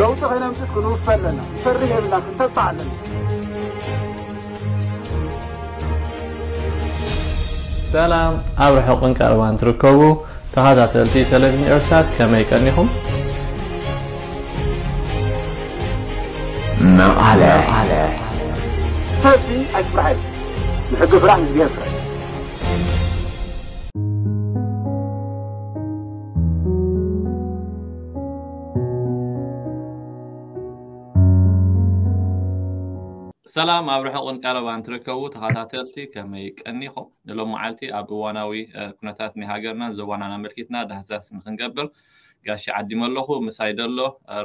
ለውጢ ከነምፅእ ክንውፈ ኣለና። ክንፈርህ የብልና፣ ክንተባዕ ኣለና። ሰላም፣ ኣብ ርሑቕን ቀረባን ትርከቡ ተኸታተልቲ ቴሌቪዥን ኤርትሳት፣ ከመይ ቀኒኹም? መቐለ። ሰልፊ ኣይትፍራሕ፣ ንሕጊ ፍራሕ፣ ንእግዚኣብሔር ፍራሕ። ሰላም፣ ኣብ ርሑቕን ቀረባን ትርከቡ ተኸታተልቲ፣ ከመይ ቀኒኹም? ንሎም መዓልቲ ኣብ እዋናዊ ኩነታት ናይ ሃገርናን ዞባናን ኣመልኪትና ዳህሳስ ንክንገብር ጋሽ ዓዲመ ኣለኹ። ምሳይ ደሎ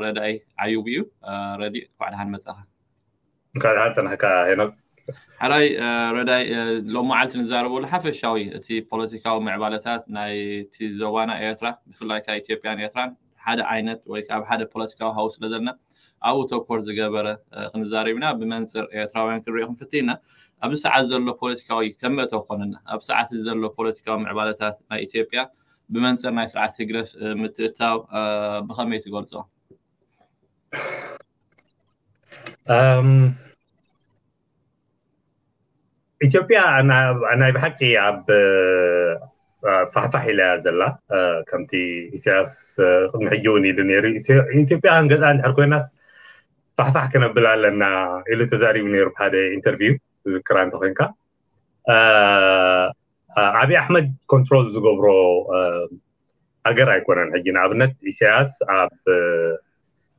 ረዳይ ዓዩብ እዩ። ረዲ፣ እንኳዕ ደሓን መጻኻ። እንኳዕ ደሓን ጸናሕካ ሄኖክ። ሕራይ ረዳይ፣ ሎም መዓልቲ ንዛረበሉ ሓፈሻዊ እቲ ፖለቲካዊ ምዕባለታት ናይቲ ዞባና ኤርትራ፣ ብፍላይ ካብ ኢትዮጵያን ኤርትራን ሓደ ዓይነት ወይ ካብ ሓደ ፖለቲካዊ ሃው ስለ ዘለና ኣብኡ ተኮር ዝገበረ ክንዛረብ ኢና። ብመንፅር ኤርትራውያን ክንሪኦ ክንፍትን ኢና። ኣብዚ ሰዓት ዘሎ ፖለቲካዊ ከመእተው ክኾነና፣ ኣብ ሰዓት ዘሎ ፖለቲካዊ ምዕባለታት ናይ ኢትዮጵያ ብመንፅር ናይ ስርዓት ህግደፍ ምትእታው ብኸመይ ትገልጾ? ኢትዮጵያ ናይ ብሓቂ ኣብ ፋሕፋሕ ኢላ እያ ዘላ። ከምቲ ኢሳያስ ቅድሚ ሕጂ እውን ኢሉ ነይሩ፣ ኢትዮጵያ ክንገዝኣ እንድሕር ኮይናስ ፋሕፋሕ ክነብል ኣለና ኢሉ ተዛሪቡ ነይሩ ብሓደ ኢንተርቪው ዝዝክራ እንተኮይንካ። ኣብይ ኣሕመድ ኮንትሮል ዝገብሮ ሃገር ኣይኮነን። ሕጂ ንኣብነት ኢሳያስ ኣብ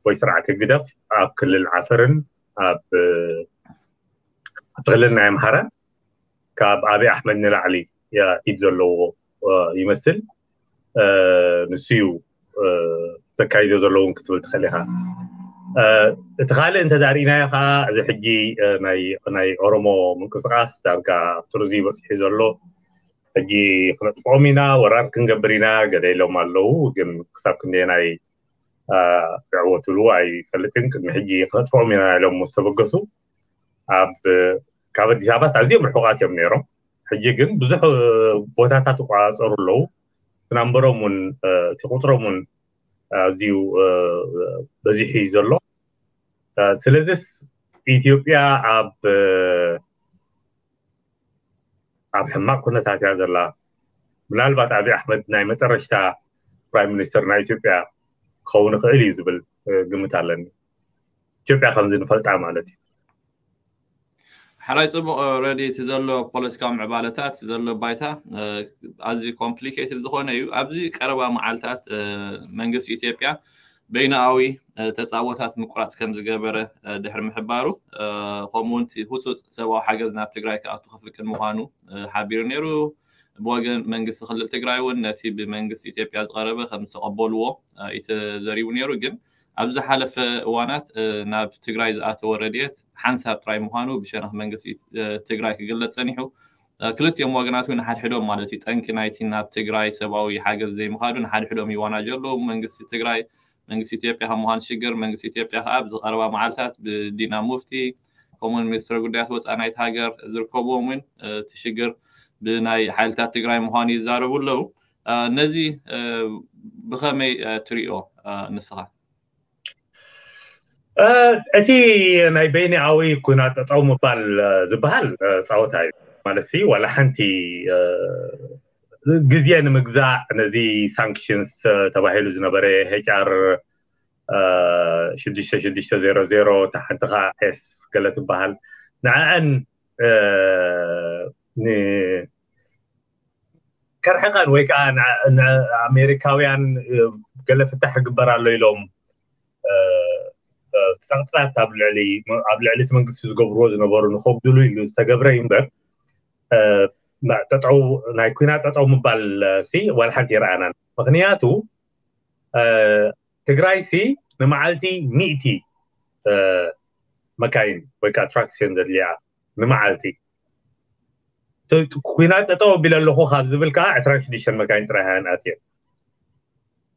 ወይ ስርዓት ህግደፍ ኣብ ክልል ዓፈርን ኣብ ክልል ናይ ኣምሓራን ካብ ኣብይ ኣሕመድ ንላዕሊ ኢድ ዘለዎ ይመስል። ንሱ እዩ ዘካይዶ ዘለውን ክትብል ትኽእል ኢኻ። እቲ ካልእ እንተዳሪእናዮ ከዓ እዚ ሕጂ ናይ ኦሮሞ ምንቅስቃስ ዳርጋ ኣብ ጥርዚ በፂሑ ዘሎ ሕጂ ክነጥፍኦም ኢና፣ ወራር ክንገብር ኢና ገለ ኢሎም ኣለዉ። ግን ክሳብ ክንደየናይ ይዕወትሉ ኣይፈልጥን። ቅድሚ ሕጂ ክነጥፍኦም ኢና ኢሎም ምስ ተበገሱ ኣብ ካብ ኣዲስ ኣበባ ኣዝዮም ርሑቓት እዮም ነይሮም። ሕጂ ግን ብዙሕ ቦታታት ይቆፃፀሩ ኣለዉ። ናምበሮም እውን እቲ ቁፅሮም እውን ኣዝዩ በዚሑ እዩ ዘሎ። ስለዚስ ኢትዮጵያ ኣብ ኣብ ሕማቕ ኩነታት እያ ዘላ። ምናልባት ኣብይ ኣሕመድ ናይ መጨረሽታ ፕራይም ሚኒስተር ናይ ኢትዮጵያ ክኸውን ይኽእል እዩ ዝብል ግምት ኣለኒ። ኢትዮጵያ ከምዚ ንፈልጣ ማለት እዩ። ሕራይ፣ ጽቡቕ ረዲ። እቲ ዘሎ ፖለቲካዊ ምዕባለታት ዘሎ ባይታ ኣዝዩ ኮምፕሊኬትድ ዝኾነ እዩ። ኣብዚ ቀረባ መዓልታት መንግስቲ ኢትዮጵያ በይናዊ ተጻቦታት ምቁራጽ ከም ዝገበረ ድሕሪ ምሕባሩ፣ ከምኡ እውን ህጹጽ ሰብኣዊ ሓገዝ ናብ ትግራይ ክኣቱ ክፍቅድ ምዃኑ ሓቢሩ ነይሩ። ብወገን መንግስቲ ክልል ትግራይ እውን ነቲ ብመንግስቲ ኢትዮጵያ ዝቐረበ ከም ዝተቐበልዎ እዩ ተዘሪቡ ነይሩ። ግን ኣብ ዝሓለፈ እዋናት ናብ ትግራይ ዝኣተወ ረድኤት ሓንሳብ ጥራይ ምዃኑ ብሸነኽ መንግስቲ ትግራይ ክግለጽ ጸኒሑ። ክልቲኦም ወገናት እውን ሓድሕዶም ማለት እዩ ጠንቂ ናይቲ ናብ ትግራይ ሰብኣዊ ሓገዝ ዘይምኻዱ ንሓድሕዶም ይዋናጀሉ። መንግስቲ ትግራይ መንግስቲ ኢትዮጵያ ከም ምዃኑ ሽግር መንግስቲ ኢትዮጵያ ከዓ ኣብዚ ቀረባ መዓልታት ብዲና ሙፍቲ ከምኡውን ሚኒስትሪ ጉዳያት ወፃኢ ናይቲ ሃገር ዝርከብዎም እውን እቲ ሽግር ብናይ ሓይልታት ትግራይ ምዃኑ ይዛረቡ ኣለዉ። ነዚ ብኸመይ ትሪኦ ንስኻ? እቲ ናይ በይኒኣዊ ኩናት ጠጠው ምባል ዝበሃል ፃወታ እዩ ማለት ሲ ዋላ ሓንቲ ግዜ ንምግዛእ ነዚ ሳንክሽንስ ተባሂሉ ዝነበረ ኤች ኣር ሽዱሽተ ሽዱሽተ ዜሮ ዜሮ እታ ሓንቲ ከዓ ኤስ ገለ ትበሃል ንዕአን ከርሕቀን ወይ ከዓ ኣሜሪካውያን ገለ ፍታሕ ይግበር ኣሎ ኢሎም ፀቕጥታት ኣብ ልዕሊ እቲ መንግስቲ ዝገብርዎ ዝነበሩ ንከጉድሉ ኢሉ ዝተገብረ እዩ እምበር ጠጠው ናይ ኩናት ጠጠው ምባል ሲ ዋላ ሓንቲ ይረኣናን። ምክንያቱ ትግራይ ሲ ንመዓልቲ ሚእቲ መካይን ወይ ከዓ ትራክስ እየን ዘድልያ ንመዓልቲ። ኩናት ጠጠው ኣቢለ ኣለኹ ካብ ዝብል ከዓ ዕስራን ሽዱሽተን መካይን ጥራይ እየን ኣትየን።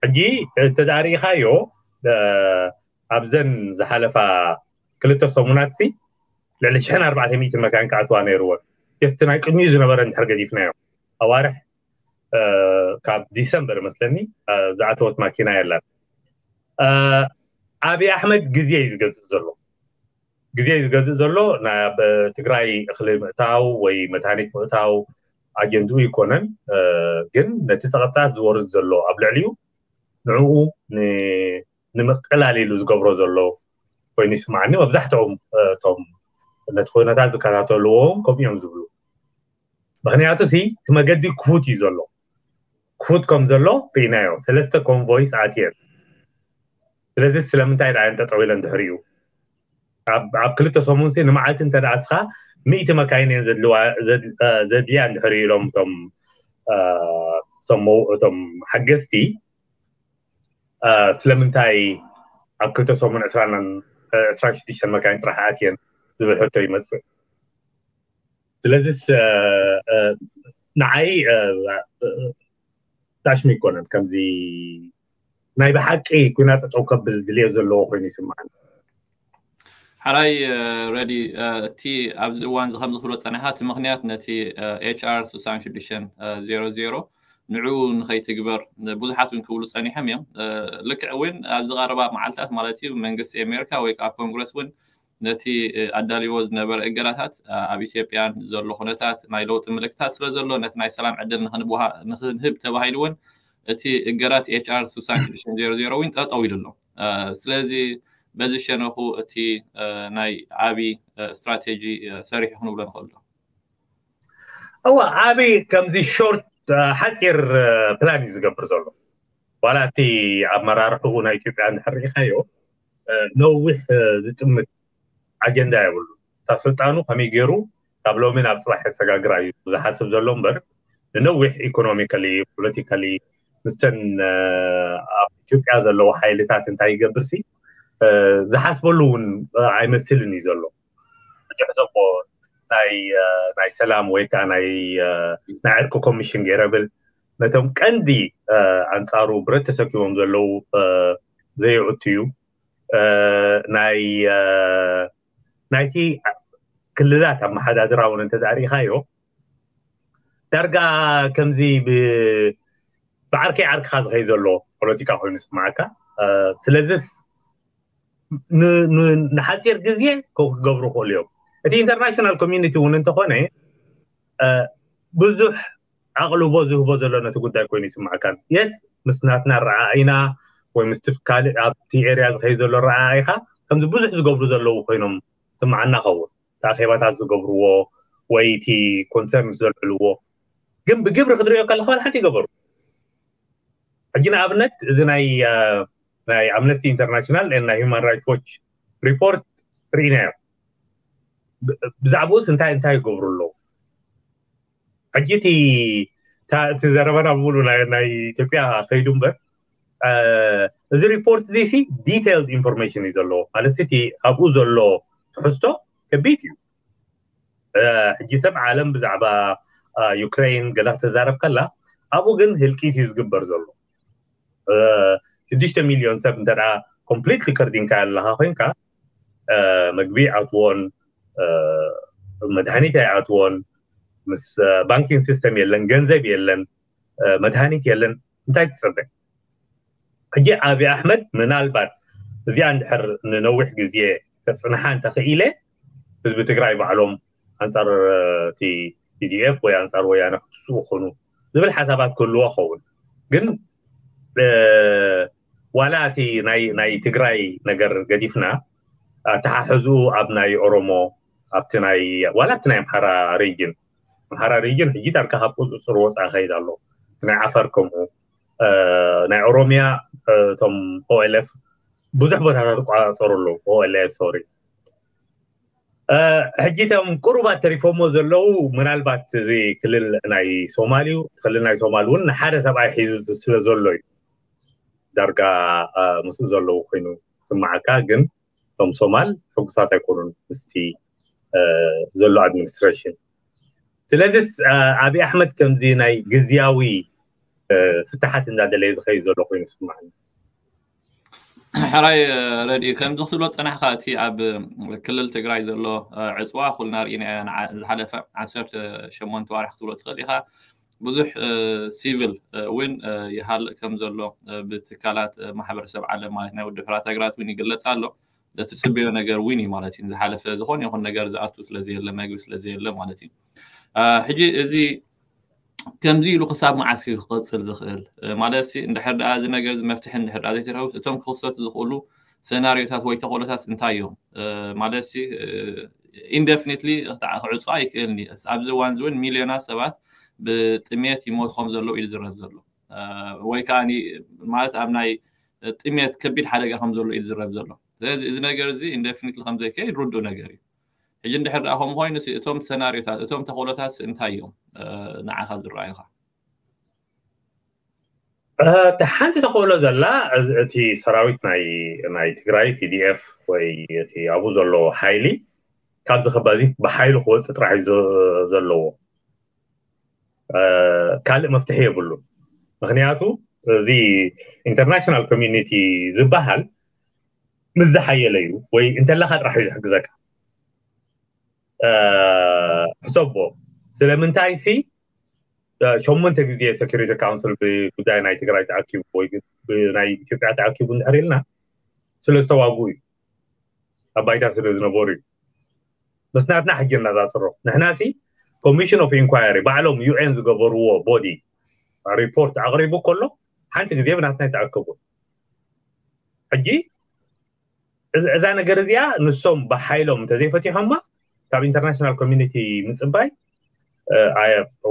ሕጂ እንተዳሪእኻዮ ኣብዘን ዝሓለፋ ክልተ ሰሙናት ሲ ልዕሊ ሽሕን ኣርባዕተ ሚእትን መካይን ክኣትዋ ነይርወን። ጀስቲ ናይ ቅድሚኡ ዝነበረ እንድሕር ገዲፍናዮ ኣዋርሕ ካብ ዲሰምበር መስለኒ ዝኣተወት ማኪና የላን። ኣብይ ኣሕመድ ግዜ እዩ ዝገዝእ ዘሎ። ግዜ እዩ ዝገዝእ ዘሎ። ናብ ትግራይ እኽሊ ምእታው ወይ መድሃኒት ምእታው ኣጀንድኡ ይኮነን። ግን ነቲ ፀቕጥታት ዝወርድ ዘሎ ኣብ ልዕሊኡ ንዕኡ ንምቅላል ኢሉ ዝገብሮ ዘሎ ኮይኑ ይስማዓኒ። መብዛሕትኦም እቶም ነቲ ኩነታት ዝከታተልዎም ከምኡ እዮም ዝብሉ። ምክንያቱ ሲ እቲ መገዲ ክፉት እዩ ዘሎ። ክፉት ከም ዘሎ ርኢናዮ። ሰለስተ ኮንቮይስ ኣትየን። ስለዚ ስለምንታይ ደኣ እየን ጠጠው ኢለን ድሕሪኡ? ኣብ ክልተ ሰሙን ሲ ንመዓልቲ እንተ ደኣ እስኻ ሚእቲ መካይን እየን ዘድልያ እንድሕር ኢሎም እቶም እቶም ሓገዝቲ ስለምንታይ ኣብ ክልተ ሰሙን ዕስራን ዕስራን ሽዱሽተን መካይን ጥራሕ ኣትየን ዝብል ሕቶ ይመፅእ። ስለዚስ ንዓይ ዳሽሚ ይኮነን ከምዚ ናይ ብሓቂ ኩናት ጠጠው ከብል ድልዮ ዘለዎ ኮይኑ ይስማዓኒ። ሓራይ ረዲ እቲ ኣብዚ እዋን እዚ ከም ዝኽብሎ ፀኒሓ እቲ ምክንያት ነቲ ኤች ኣር ስሳን ሽዱሽተን ዜሮ ዜሮ ንዕኡ ንኸይትግበር ብዙሓት እውን ክብሉ ፀኒሖም እዮም። ልክዕ እውን ኣብዚ ቀረባ መዓልታት ማለት እዩ መንግስቲ ኣሜሪካ ወይ ከዓ ኮንግረስ እውን ነቲ ኣዳልዎ ዝነበረ እገዳታት ኣብ ኢትዮጵያን ዘሎ ኩነታት ናይ ለውጢ ምልክታት ስለ ዘሎ ነቲ ናይ ሰላም ዕድል ንክንህብ ተባሂሉ እውን እቲ እገዳት ኤች ኣር ስሳን ሽዱሽተን ዜሮ ዜሮ እውን ጠጠው ኢሉ ኣሎ። ስለዚ በዚ ሸነኹ እቲ ናይ ኣብይ ስትራቴጂ ሰሪሑ ክንብሎ ንኽእል ዶ? እዋ ኣብይ ከምዚ ሾርት ሓፂር ፕላን እዩ ዝገብር ዘሎ። ዋላ እቲ ኣመራርሕኡ ናይ ኢትዮጵያ እንድሕር ርኢኻዮ ነዊሕ ዝጥምት ኣጀንዳ የብሉ። እታ ስልጣኑ ከመይ ገይሩ ካብ ሎሚ ናብ ፅባሕ የሰጋግራ እዩ ዝሓስብ ዘሎ እምበር ንነዊሕ ኢኮኖሚካሊ ፖለቲካሊ ምስተን ኣብ ኢትዮጵያ ዘለዉ ሓይልታት እንታይ ይገብር ሲ ዝሓስበሉ እውን ኣይመስልን እዩ ዘሎ። ብዙሕ ዘቦ ናይ ናይ ሰላም ወይ ከዓ ናይ ናይ ዕርቂ ኮሚሽን ገይረ ብል ነቶም ቀንዲ ኣንፃሩ ብረት ተሰኪቦም ዘለዉ ዘየእቱ እዩ። ናይ ናይቲ ክልላት ኣመሓዳድራ እውን እንተዳርኢኻዮ ዳርጋ ከምዚ ብዓርከይ ዓርክኻ ዝኸይ ዘሎ ፖለቲካ ኮይኑ ስማዓካ። ስለዚስ ንሓፂር ግዜ ክገብሩ ክእሉ እዮም። እቲ ኢንተርናሽናል ኮሚኒቲ እውን እንተኾነ ብዙሕ ኣቕልቦ ዝህቦ ዘሎ ነቲ ጉዳይ ኮይኑ ይስማዕካን የስ ምስ ናትና ረኣኢና ወይ ምስ ካልእ ኣብቲ ኤርያ ዝኸይ ዘሎ ረኣኢኻ ከምዚ ብዙሕ ዝገብሩ ዘለዉ ኮይኖም ስማዓና ኸውን ኣኼባታት ዝገብርዎ ወይ እቲ ኮንሰርን ዘልዕልዎ ግን ብግብሪ ክትሪኦ ከለካ ሓንቲ ይገበሩ። ሕጂ ንኣብነት እዚ ናይ ናይ ኣምነስቲ ኢንተርናሽናል ናይ ሂማን ራይትስ ዎች ሪፖርት ርኢናዮ። ብዛዕባኡስ እንታይ እንታይ ይገብሩ ኣለዉ? ሕጂ እቲ ዘረባና ብሙሉ ናይ ኢትዮጵያ ከይዱ እምበር እዚ ሪፖርት እዚ ዲቴይልድ ኢንፎርሜሽን እዩ ዘለዎ። ማለት እቲ ኣብኡ ዘሎ ትሕዝቶ ከቢድ እዩ። ሕጂ ሰብ ዓለም ብዛዕባ ዩክሬን ገለ ክትዛረብ ከላ ኣብኡ ግን ህልቂት እዩ ዝግበር ዘሎ። ሽዱሽተ ሚልዮን ሰብ እንተ ኮምፕሊትሊ ከርዲንካ ኣለካ ኮይንካ መግቢ ኣይኣትዎን፣ መድሃኒት ኣይኣትዎን፣ ምስ ባንኪንግ ሲስተም የለን፣ ገንዘብ የለን፣ መድሃኒት የለን። እንታይ ትፅበ? ሕጂ ኣብይ ኣሕመድ ምናልባት እዚኣ እንድሕር ንነዊሕ ግዜ ከፅንሓ እንተኽኢለ ህዝቢ ትግራይ ባዕሎም ኣንፃር እቲ ቲዲኤፍ ወይ ኣንፃር ወያነ ክትስኡ ክኾኑ ዝብል ሓሳባት ክህልዎ ኸውን። ግን ዋላ እቲ ናይ ትግራይ ነገር ገዲፍና ኣተሓሕዝኡ ኣብ ናይ ኦሮሞ ኣብቲ ናይ ዋላ ኣብቲ ናይ ኣምሓራ ሪጅን ኣምሓራ ሪጅን ሕጂ ዳርጋ ካብ ቁፅፅር ወፃኢ ከይድ ኣሎ። ናይ ዓፋር ከምኡ ናይ ኦሮሚያ እቶም ኦኤልኤፍ ብዙሕ ቦታታት ይቋፀሩ ኣለዉ። ኦኤልኤፍ ሶሪ ሕጂ እቶም ቁሩባት ተሪፎሞ ዘለዉ ምናልባት እዚ ክልል ናይ ሶማል እዩ። ክልል ናይ ሶማል እውን ንሓደ ሰብኣይ ሒዙ ስለ ዘሎ እዩ ዳርጋ ምስኡ ዘለዉ ኮይኑ ስማዓካ። ግን እቶም ሶማል ሕጉሳት ኣይኮኑን ምስቲ ዘሎ ኣድሚኒስትሬሽን። ስለዚስ ኣብይ ኣሕመድ ከምዚ ናይ ግዝያዊ ፍትሓት እንዳደለየ ዝኸይድ ዘሎ ኮይኑ ስማዓኒ። ሕራይ ረድኢ ከምዚ ክትብሎ ፀናሕካ እቲ ኣብ ክልል ትግራይ ዘሎ ዕፅዋ ኩልና ርኢና ዝሓለፈ ዓሰርተ ሸሞንተ ዋርሒ ክትብሎ ትኽእል ኢኻ። ብዙሕ ሲቪል እውን ይሃልእ ከም ዘሎ ብትካላት ማሕበረሰብ ዓለም ማለት ናይ ውድብ ሕራት ሃገራት እውን ይግለጽ ኣሎ። እቲ ጽበዮ ነገር እውን እዩ ማለት እዩ። ዝሓለፈ ዝኾነ ይኹን ነገር ዝኣቱ ስለዘየለ፣ መግቢ ስለዘየለ ማለት እዩ። ሕጂ እዚ ከምዚ ኢሉ ክሳብ መዓስ እዩ ክቐጽል ዝኽእል ማለት ሲ እንድሕር ደኣ እዚ ነገር እዚ መፍትሒ እንድሕር ደኣ ዘይተረኸቡ እቶም ክኽሰቱ ዝኽእሉ ሰናሪዮታት ወይ ተኽእሎታት እንታይ እዮም ማለት ሲ ኢንደፊኒትሊ ክዕጾ ኣይክእልን እዩ። ኣብዚ እዋን እዚ እውን ሚልዮናት ሰባት ብጥሜት ይሞት ከም ዘለዉ እዩ ዝዝረብ ዘሎ ወይ ከዓ ማለት ኣብ ናይ ጥሜት ከቢድ ሓደጋ ከም ዘሎ እዩ ዝዝረብ ዘሎ። ስለዚ እዚ ነገር እዚ ኢንደፊኒትሊ ከም ዘይከይድ ርዱእ ነገር እዩ። ሕጂ እንድሕር ደኣ ከምኡ ኮይኑ እቶም ሰናሪዮታት እቶም ተኽእሎታት እንታይ እዮም ንዓኻ ዝረኣዩኻ? እቲ ሓንቲ ተኽእሎ ዘላ እቲ ሰራዊት ናይ ናይ ትግራይ ቲዲኤፍ ወይ እቲ ኣብኡ ዘሎ ሓይሊ ካብዚ ከባዚ ብሓይሉ ክወፅእ ጥራሕ እዩ ዘለዎ። ካልእ መፍትሒ የብሉ። ምክንያቱ እዚ ኢንተርናሽናል ኮሚኒቲ ዝበሃል ምስ ዝሓየለ እዩ ወይ እንተለካ ጥራሕ እዩ ዝሕግዘካ። ሕሰቦ ስለምንታይ ሲ ሸሞንተ ግዜ ሴኩሪቲ ካውንስል ብጉዳይ ናይ ትግራይ ተኣኪቡ ወይ ናይ ኢትዮጵያ ተኣኪቡ እንድሕር ኢልና ስለ ዝተዋግኡ እዩ። ኣብ ባይታ ስለ ዝነበሩ እዩ። ምስ ናትና ሕጂ እናዛፅሮ ንሕና ሲ ኮሚሽን ኦፍ ኢንኳየሪ ባዕሎም ዩኤን ዝገበርዎ ቦዲ ሪፖርት ኣቕሪቡ ከሎ ሓንቲ ግዜ ብናትና ይተኣከቡ። ሕጂ እዛ ነገር እዚኣ ንሶም ብሓይሎም እንተዘይፈቲሖማ ካብ ኢንተርናሽናል ኮሚኒቲ ምፅባይ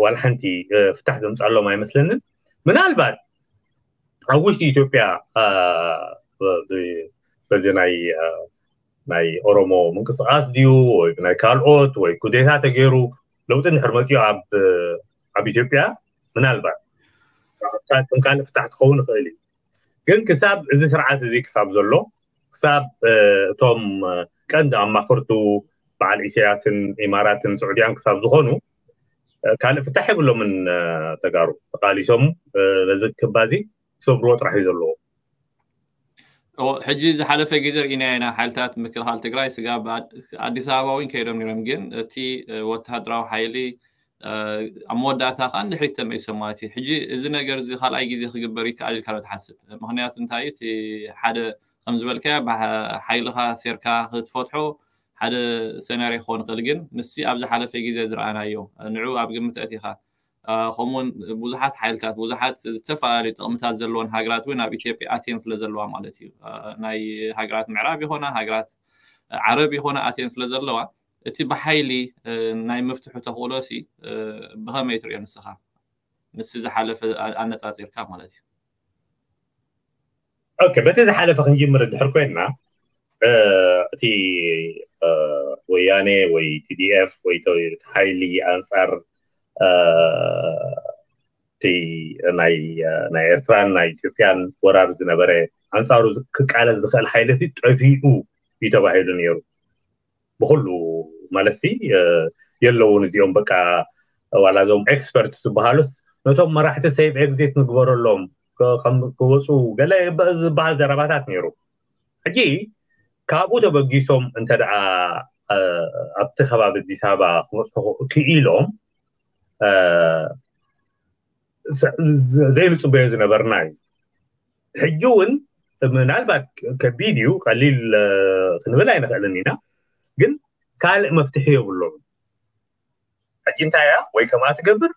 ዋላ ሓንቲ ፍታሕ ዘምፃሎም ኣይመስለንን። ምናልባት ኣብ ውሽጢ ኢትዮጵያ በዚ ናይ ናይ ኦሮሞ ምንቅስቃስ ድዩ ወይ ናይ ካልኦት ወይ ኩዴታ ተገይሩ ለውጢ እንድሕር መፅኡ ኣብ ኢትዮጵያ ምናልባት ከም ካልእ ፍታሕ ክኸውን ይኽእል እዩ። ግን ክሳብ እዚ ስርዓት እዚ ክሳብ ዘሎ ክሳብ እቶም ቀንዲ ኣማኽርቱ በዓል ኢሳያስን ኢማራትን ስዑድያን ክሳብ ዝኾኑ ካልእ ፍታሕ የብሎምን። ተጋሩ ተቃሊሶም ነዚ ክባዚ ክሰብርዎ ጥራሕ እዩ ዘለዎ። ሕጂ ዝሓለፈ ግዜ ርኢና ኢና ሓይልታት ምክልኻል ትግራይ ስጋብ ኣዲስ ኣበባ እውን ከይዶም ነይሮም። ግን እቲ ወተሃደራዊ ሓይሊ ኣብ መወዳእታ ከዓ ንድሕሪት ተመይሶም ማለት እዩ። ሕጂ እዚ ነገር እዚ ካልኣይ ግዜ ክግበር ይከኣል ኢልካ ዶ ትሓስብ? ምክንያቱ እንታይ እቲ ሓደ ከም ዝበልካዮ ሓይልካ ሴርካ ክትፈትሖ ሓደ ሰናርዮ ክኸውን ይኽእል። ግን ምስቲ ኣብ ዝሓለፈ ግዜ ዝረኣናዮ ንዑ ኣብ ግምት ኣእቲኻ ከምኡውን ብዙሓት ሓይልታት ብዙሓት ዝተፈላለዩ ጥቕምታት ዘለዎን ሃገራት እውን ኣብ ኢትዮጵያ ኣትየን ስለ ዘለዋ ማለት እዩ። ናይ ሃገራት ምዕራብ ይኾና ሃገራት ዓረብ ይኾና ኣትየን ስለ ዘለዋ እቲ ብሓይሊ ናይ ምፍትሑ ተኽእሎ ሲ ብኸመይ ትሪኦ ንስኻ ምስቲ ዝሓለፈ ኣነፃፂርካ ማለት እዩ? ኦኬ በቲ ዝሓለፈ ክንጅምር እንድሕር ኮይንና እቲ ወያኔ ወይ ቲዲኤፍ ወይ እቲ ሓይሊ ኣንፃር እቲ ናይ ናይ ኤርትራን ናይ ኢትዮጵያን ወራር ዝነበረ ኣንፃሩ ክቃለስ ዝኽእል ሓይሊ ሲ ጠፊኡ እዩ ተባሂሉ ነይሩ። ብኩሉ ማለት ሲ የለውን እዚኦም በቃ ዋላ እዞም ኤክስፐርት ዝበሃሉስ ነቶም መራሕቲ ሴፍ ኤግዚት ንግበረሎም ክወፁ ገለ ዝበሃል ዘረባታት ነይሩ። ሕጂ ካብኡ ተበጊሶም እንተ ደኣ ኣብቲ ከባቢ ኣዲስ ኣበባ ክመፅሑ ክኢሎም ዘይንፅበዮ ዝነበርና እዩ። ሕጂ እውን ምናልባት ከቢድ እዩ ቀሊል ክንብል ኣይንኽእልን ኢና። ግን ካልእ መፍትሒ የብሎም። ሕጂ እንታይ እያ ወይ ከምኣ ትገብር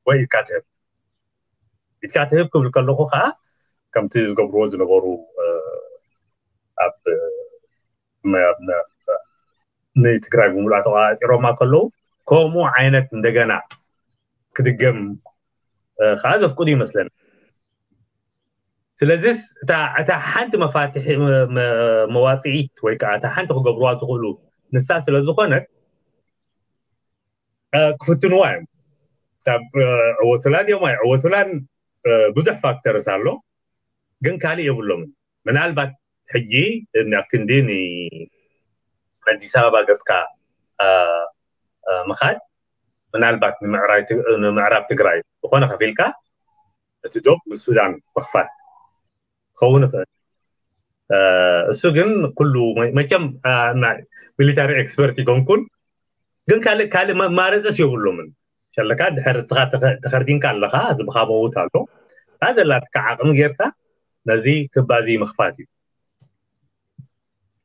ወይ ኢድካ ትህብ። ኢድካ ትህብ ክብል ከለኹ ከዓ ከምቲ ዝገብርዎ ዝነበሩ ኣብ ንትግራይ ብምሉኣ ተቋፂሮማ ከለዉ ከምኡ ዓይነት እንደገና ክድገም ከዓ ዘፍቅዱ ይመስለኒ። ስለዚ እታ ሓንቲ መፋትሒ መዋፅኢት ወይ ከዓ እታ ሓንቲ ክገብርዋ ዝኽእሉ ንሳ ስለ ዝኾነት ክፍትንዋ እዮም። ካብ ዕወቱላን እዮም ኣይዕወቱላን ብዙሕ ፋክተርስ ኣሎ፣ ግን ካልእ የብሎምን። ምናልባት ሕጂ ክንዲ ኣዲስ ኣበባ ገፅካ ምኻድ ምናልባት ንምዕራብ ትግራይ ዝኾነ ከፊልካ እቲ ዶብ ምስ ሱዳን ምኽፋል ክኸውን ይኽእል። እሱ ግን ኩሉ መቸም ሚሊታሪ ኤክስፐርት ይኮንኩን፣ ግን ካልእ ካልእ መማረፅስ የብሎምን። ሸለካ ድሕር እስኻ ተኸ- ተኸርዲንካ ኣለኻ፣ ህዝብኻ መውት ኣሎ። እታ ዘላትካ ዓቕሚ ጌርካ ነዚ ክባዚ ምኽፋት እዩ።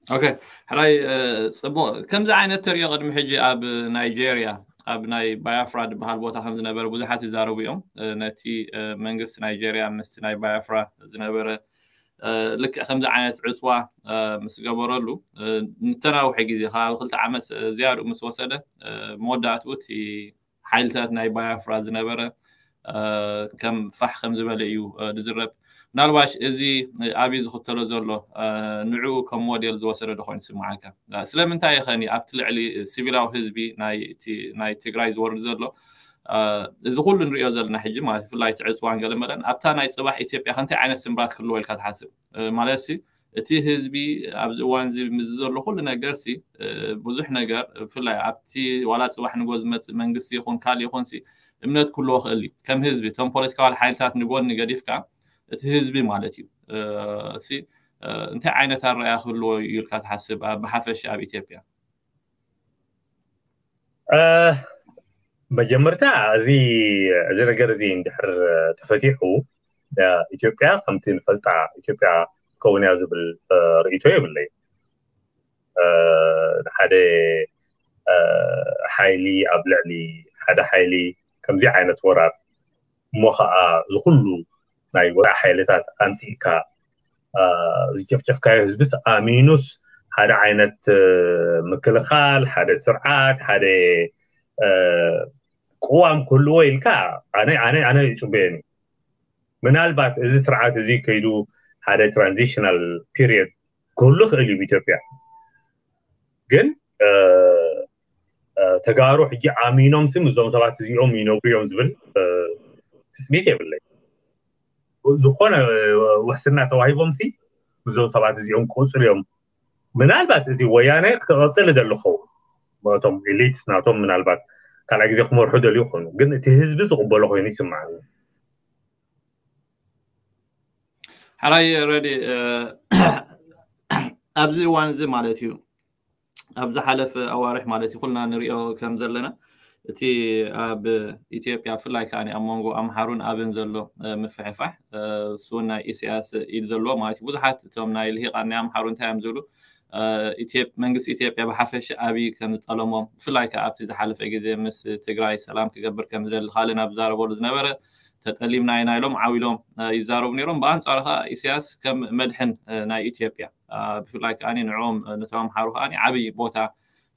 ኦኬ፣ ሕራይ። እ፣ ጽቡቕ። ከምዚ ዓይነት ተሪኦ ቅድሚ ሕጂ ኣብ ናይጄርያ፣ ኣብ ናይ ባያፍራ ዝበሃል ቦታ ከም ዝነበረ ብዙሓት ይዛረቡ እዮም። እ፣ ነቲ እ፣ መንግስቲ ናይጄርያ ምስቲ ናይ ባያፍራ ዝነበረ እ፣ ልክዕ ከምዚ ዓይነት ዕፅዋ እ፣ ምስ ገበረሉ እ፣ ንተናውሐ ግዜ ከባቢ ክልተ ዓመት እ፣ ዝያድኡ ምስ ወሰደ እ፣ መወዳእትኡ እቲ ሓይልታት ናይ ባያፍራ ዝነበረ እ፣ ከም ፋሕ ከም ዝበለ እዩ እ፣ ዝዝረብ። ምናልባሽ እዚ እ፣ ኣብይ ዝኽተሎ ዘሎ እ፣ ንዕኡ ከም ሞዴል ዝወሰደ ዶ ኮይኑ ይስምዓካ? እ፣ ስለምንታይ ይኸኒ ኣብቲ ልዕሊ ሲቪላዊ ህዝቢ ናይ እቲ- ናይ ትግራይ ዝወርድ ዘሎ እ፣ እዚ ኩሉ ንሪኦ ዘለና ሕጂ ማለት ብፍላይ እቲ ዕፅዋን ገለመለን ኣብታ ናይ ፅባሕ ኢትዮጵያ ከ እንታይ ዓይነት ስምራት ክህልዎ ኢልካ ትሓስብ? እ፣ ማለት ሲ እቲ ህዝቢ ኣብዚ እዋን እዚ ምስ ዘሎ ኩሉ ነገር ሲ እ፣ ብዙሕ ነገር ብፍላይ ኣብቲ ዋላ ፅባሕ ንጎ ዝመፅእ መንግስቲ ይኹን ካልእ ይኹን ሲ እምነት ክህልዎ ክእል እዩ። ከም ህዝቢ እቶም ፖለቲካዊ ሓይልታት ንጎኒ ገዲፍካ እቲ ህዝቢ ማለት እዩ እ፣ ሲ እ፣ እንታይ ዓይነት ኣረኣያ ክህልዎ እዩ ኢልካ ትሓስብ ኣብ ብሓፈሻ ኣብ ኢትዮጵያ? እ፣ መጀመርታ እዚ እዚ ነገር እዚ እንድሕር ተፈቲሑ እ፣ ኢትዮጵያ ከምቲ ንፈልጣ ኢትዮጵያ ትከውን እያ ዝብል እ፣ ርእይቶ የብለይ። እ፣ ንሓደ እ፣ ሓይሊ ኣብ ልዕሊ ሓደ ሓይሊ ከምዚ ዓይነት ወራር እሞ ከዓ ዝኩሉ ናይ ወፃኢ ሓይልታት ኣምፂእካ እ፣ ዝጨፍጨፍካዮ ህዝብስ ኣሚኑስ ሓደ ዓይነት እ፣ ምክልኻል ሓደ ስርዓት ሓደ እ፣ ቅዋም ክህልዎ ኢልካ ኣነ ኣነ ኣነ ይፅበየኒ። ምናልባት እዚ ስርዓት እዚ ከይዱ ሓደ ትራንዚሽናል ፒሪየድ ክህሉ ክእል እዩ ኢትዮጵያ። ግን እ፣ እ፣ ተጋሩ ሕጂ ኣሚኖም ሲ ምስዞም ሰባት እዚኦም ይነብሩ እዮም ዝብል እ፣ ትፅቢት የብለይ። ዝኾነ እ፣ ውሕስና ተዋሂቦም ሲ ምስዞም ሰባት እዚኦም ክቕፅሉ እዮም። ምናልባት እዚ ወያነ ክቐፅል ይደሊ ክኸውን እቶም ኤሊትስ ናቶም ምናልባት ካልኣይ ግዜ ክመርሑ ደልዩ ይኾኑ፣ ግን እቲ ህዝቢ ዝቕበሎ ኮይኑ ይስማዓኒ። ሕራይ ረዲ እ፣ ኣብዚ እዋን እዚ ማለት እዩ ኣብ ዝሓለፈ ኣዋርሕ ማለት እዩ ኩልና ንሪኦ ከም ዘለና እቲ ኣብ ኢትዮጵያ ብፍላይ ከዓ ኣብ መንጎ ኣምሓሩን ኣብን ዘሎ እ፣ ምፍሕፋሕ እ፣ እሱ እውን ናይ ኢሳያስ ኢድ ዘለዎ ማለት እዩ። ብዙሓት እቶም ናይ ልሂቃን ናይ ኣምሓሩ እንታይ እዮም ዝብሉ እ፣ ኢትዮጵ- መንግስቲ ኢትዮጵያ ብሓፈሻ ኣብይ ከም ዝጠለሞም ብፍላይ ከዓ ኣብቲ ዝሓለፈ ግዜ ምስ ትግራይ ሰላም ክገብር ከም ዝደሊ ካልእ ናብ ዝዛረበሉ ዝነበረ ተጠሊምና ኢና ኢሎም ዓው ኢሎም እ፣ ይዛረቡ ነይሮም። ብኣንፃሩ ከዓ ኢሳያስ ከም መድሕን እ፣ ናይ ኢትዮጵያ እ፣ ብፍላይ ከዓ ንዕኦም እ፣ ነቶም ኣምሓሩ ከዓ ዓብይ ቦታ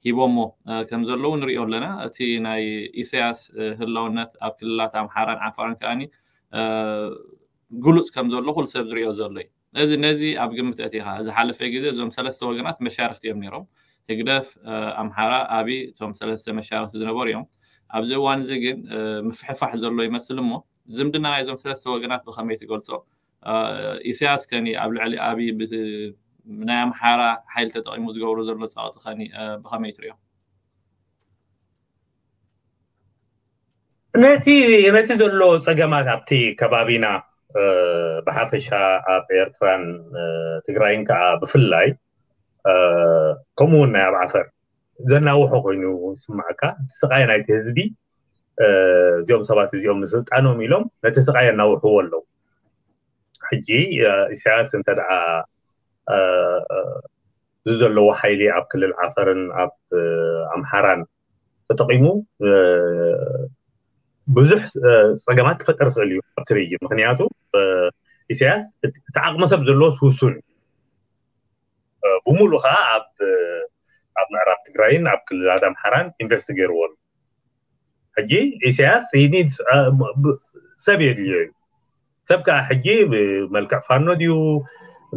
ሂቦሞ እ፣ ከም ዘለዉ ንሪኦ ኣለና። እቲ ናይ ኢሳያስ እ፣ ህላውነት ኣብ ክልላት ኣምሓራን ዓፋርን ከዓ እ፣ ግሉፅ ከም ዘሎ ኩሉ ሰብ ዝሪኦ ዘሎ እዩ። ነዚ ነዚ ኣብ ግምት ኣእቲኻ ዝሓለፈ ግዜ እዞም ሰለስተ ወገናት መሻርክቲ እዮም ነይሮም። ህግደፍ እ፣ ኣምሓራ ኣብይ እቶም ሰለስተ መሻርክቲ ዝነበሩ እዮም። ኣብዚ እዋን እዚ ግን እ፣ ምፍሕፋሕ ዘሎ ይመስል እሞ ዝምድና ናይዞም ሰለስተ ወገናት ብኸመይ ትገልፆ? እ፣ ኢሳያስ ከኒ ኣብ ልዕሊ ኣብይ ብ- ናይ ኣምሓራ ሓይሊ ተጠቒሙ ዝገብሮ ዘሎ ፀቕጢ ከኒ እ፣ ብኸመይ ትሪኦ? ነቲ ነቲ ዘሎ ፀገማት ኣብቲ ከባቢና እ፣ ብሓፈሻ ኣብ ኤርትራን እ፣ ትግራይን ከዓ ብፍላይ እ፣ ከምኡ እውን ናይ ኣብ ዓፈር ዘናውሖ ኮይኑ ይስማዓካ። እቲ ስቃይ ናይቲ ህዝቢ እ፣ እዚኦም ሰባት እዚኦም ንስልጣኖም ኢሎም ነቲ ስቃይ የናውሕዎ ኣለዉ። ሕጂ እ፣ ኢሳያስ እንተ ደኣ እ፣ እ፣ እዚ ዘለዎ ሓይሊ ኣብ ክልል ዓፈርን ኣብ እ፣ ኣምሓራን ተጠቒሙ እ፣ ብዙሕ እ፣ ፀገማት ክፈጥር ይኽእል እዩ ኣብቲ ሪጅን። ምክንያቱ እ፣ ኢሳያስ እቲ እቲ ዓቕሚ ሰብ ዘለዎስ ውሱን እዩ። እ፣ ብምሉእ ከዓ ኣብ እ፣ ኣብ ምዕራብ ትግራይን ኣብ ክልላት ኣምሓራን ኢንቨስት ገይርዎ ኣሎ። ሕጂ ኢሳያስ ይኒድ እ፣ ብ- ሰብ የድልዮ እዩ። ሰብ ከዓ ሕጂ ብመልክዕ ፋኖ ድዩ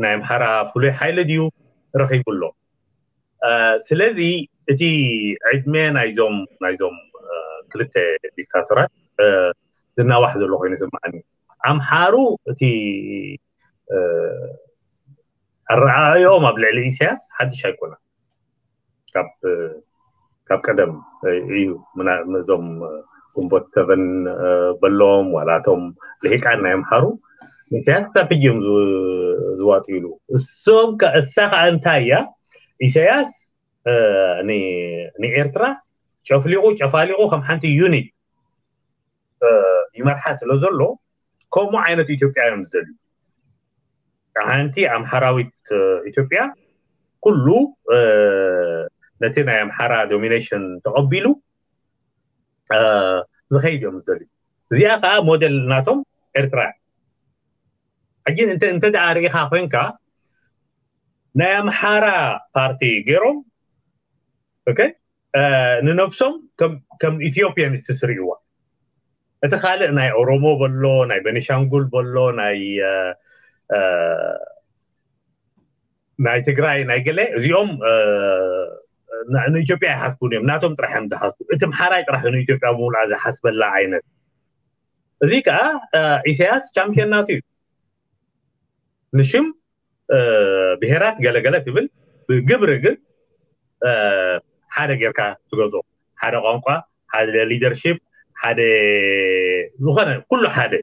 ናይ ኣምሓራ ፍሉይ ሓይሊ ድዩ ረኺቡ ኣሎ። እ፣ ስለዚ እቲ ዕድመ ናይዞም ናይዞም እ፣ ክልተ ዲክታቶራት እ፣ ዝናዋሕ ዘሎ ኮይኑ ይስምዓኒ። ኣምሓሩ እቲ እ፣ ኣረኣእዮኦም ኣብ ልዕሊ ኢሳያስ ሓድሽ ኣይኮነን። ካብ እ፣ ካብ ቀደም እ፣ እዩ ምና- እዞም እ፣ ግንቦት ሰቨን እ፣ በሎም ዋላ እቶም ልሂቃን ናይ ኣምሓሩ ኢሳያስ ክሳብ ሕጂ እዮም ዝ- ዝዋጥይሉ። እሶም ከ- እሳ ከዓ እንታይ እያ ኢሳያስ እ፣ ን- ንኤርትራ ጨፍሊቑ ጨፋሊቑ ከም ሓንቲ ዩኒት ይመርሓ ስለ ዘሎ፣ ከምኡ ዓይነት ኢትዮጵያ እዮም ዝደልዩ። ሓንቲ ኣምሓራዊት ኢትዮጵያ ኩሉ ነቲ ናይ ኣምሓራ ዶሚኔሽን ተቐቢሉ ዝኸይድ እዮም ዝደልዩ። እዚኣ ከዓ ሞዴል ናቶም ኤርትራ። ሕጂ እንተ ደኣ ርኢኻ ኮይንካ፣ ናይ ኣምሓራ ፓርቲ ገይሮም ንነብሶም ከም ኢትዮጵያኒስትስ ርእይዋ። እቲ ካልእ ናይ ኦሮሞ በሎ፣ ናይ ቤኒሻንጉል በሎ፣ ናይ ናይ ትግራይ፣ ናይ ገለ፣ እዚኦም ንኢትዮጵያ ይሓስቡን እዮም። ናቶም ጥራሕ እዮም ዝሓስቡ። እቲ ኣምሓራይ ጥራሕ ንኢትዮጵያ ብምሉኣ ዝሓስበላ ዓይነት። እዚ ከዓ ኢሳያስ ቻምፒዮን ናቱ እዩ። ንሽም ብሄራት ገለገለ ትብል፣ ብግብሪ ግን ሓደ ጌርካ ትገዝኦ። ሓደ ቋንቋ፣ ሓደ ሊደርሺፕ፣ ሓደ ዝኾነ፣ ኩሉ ሓደ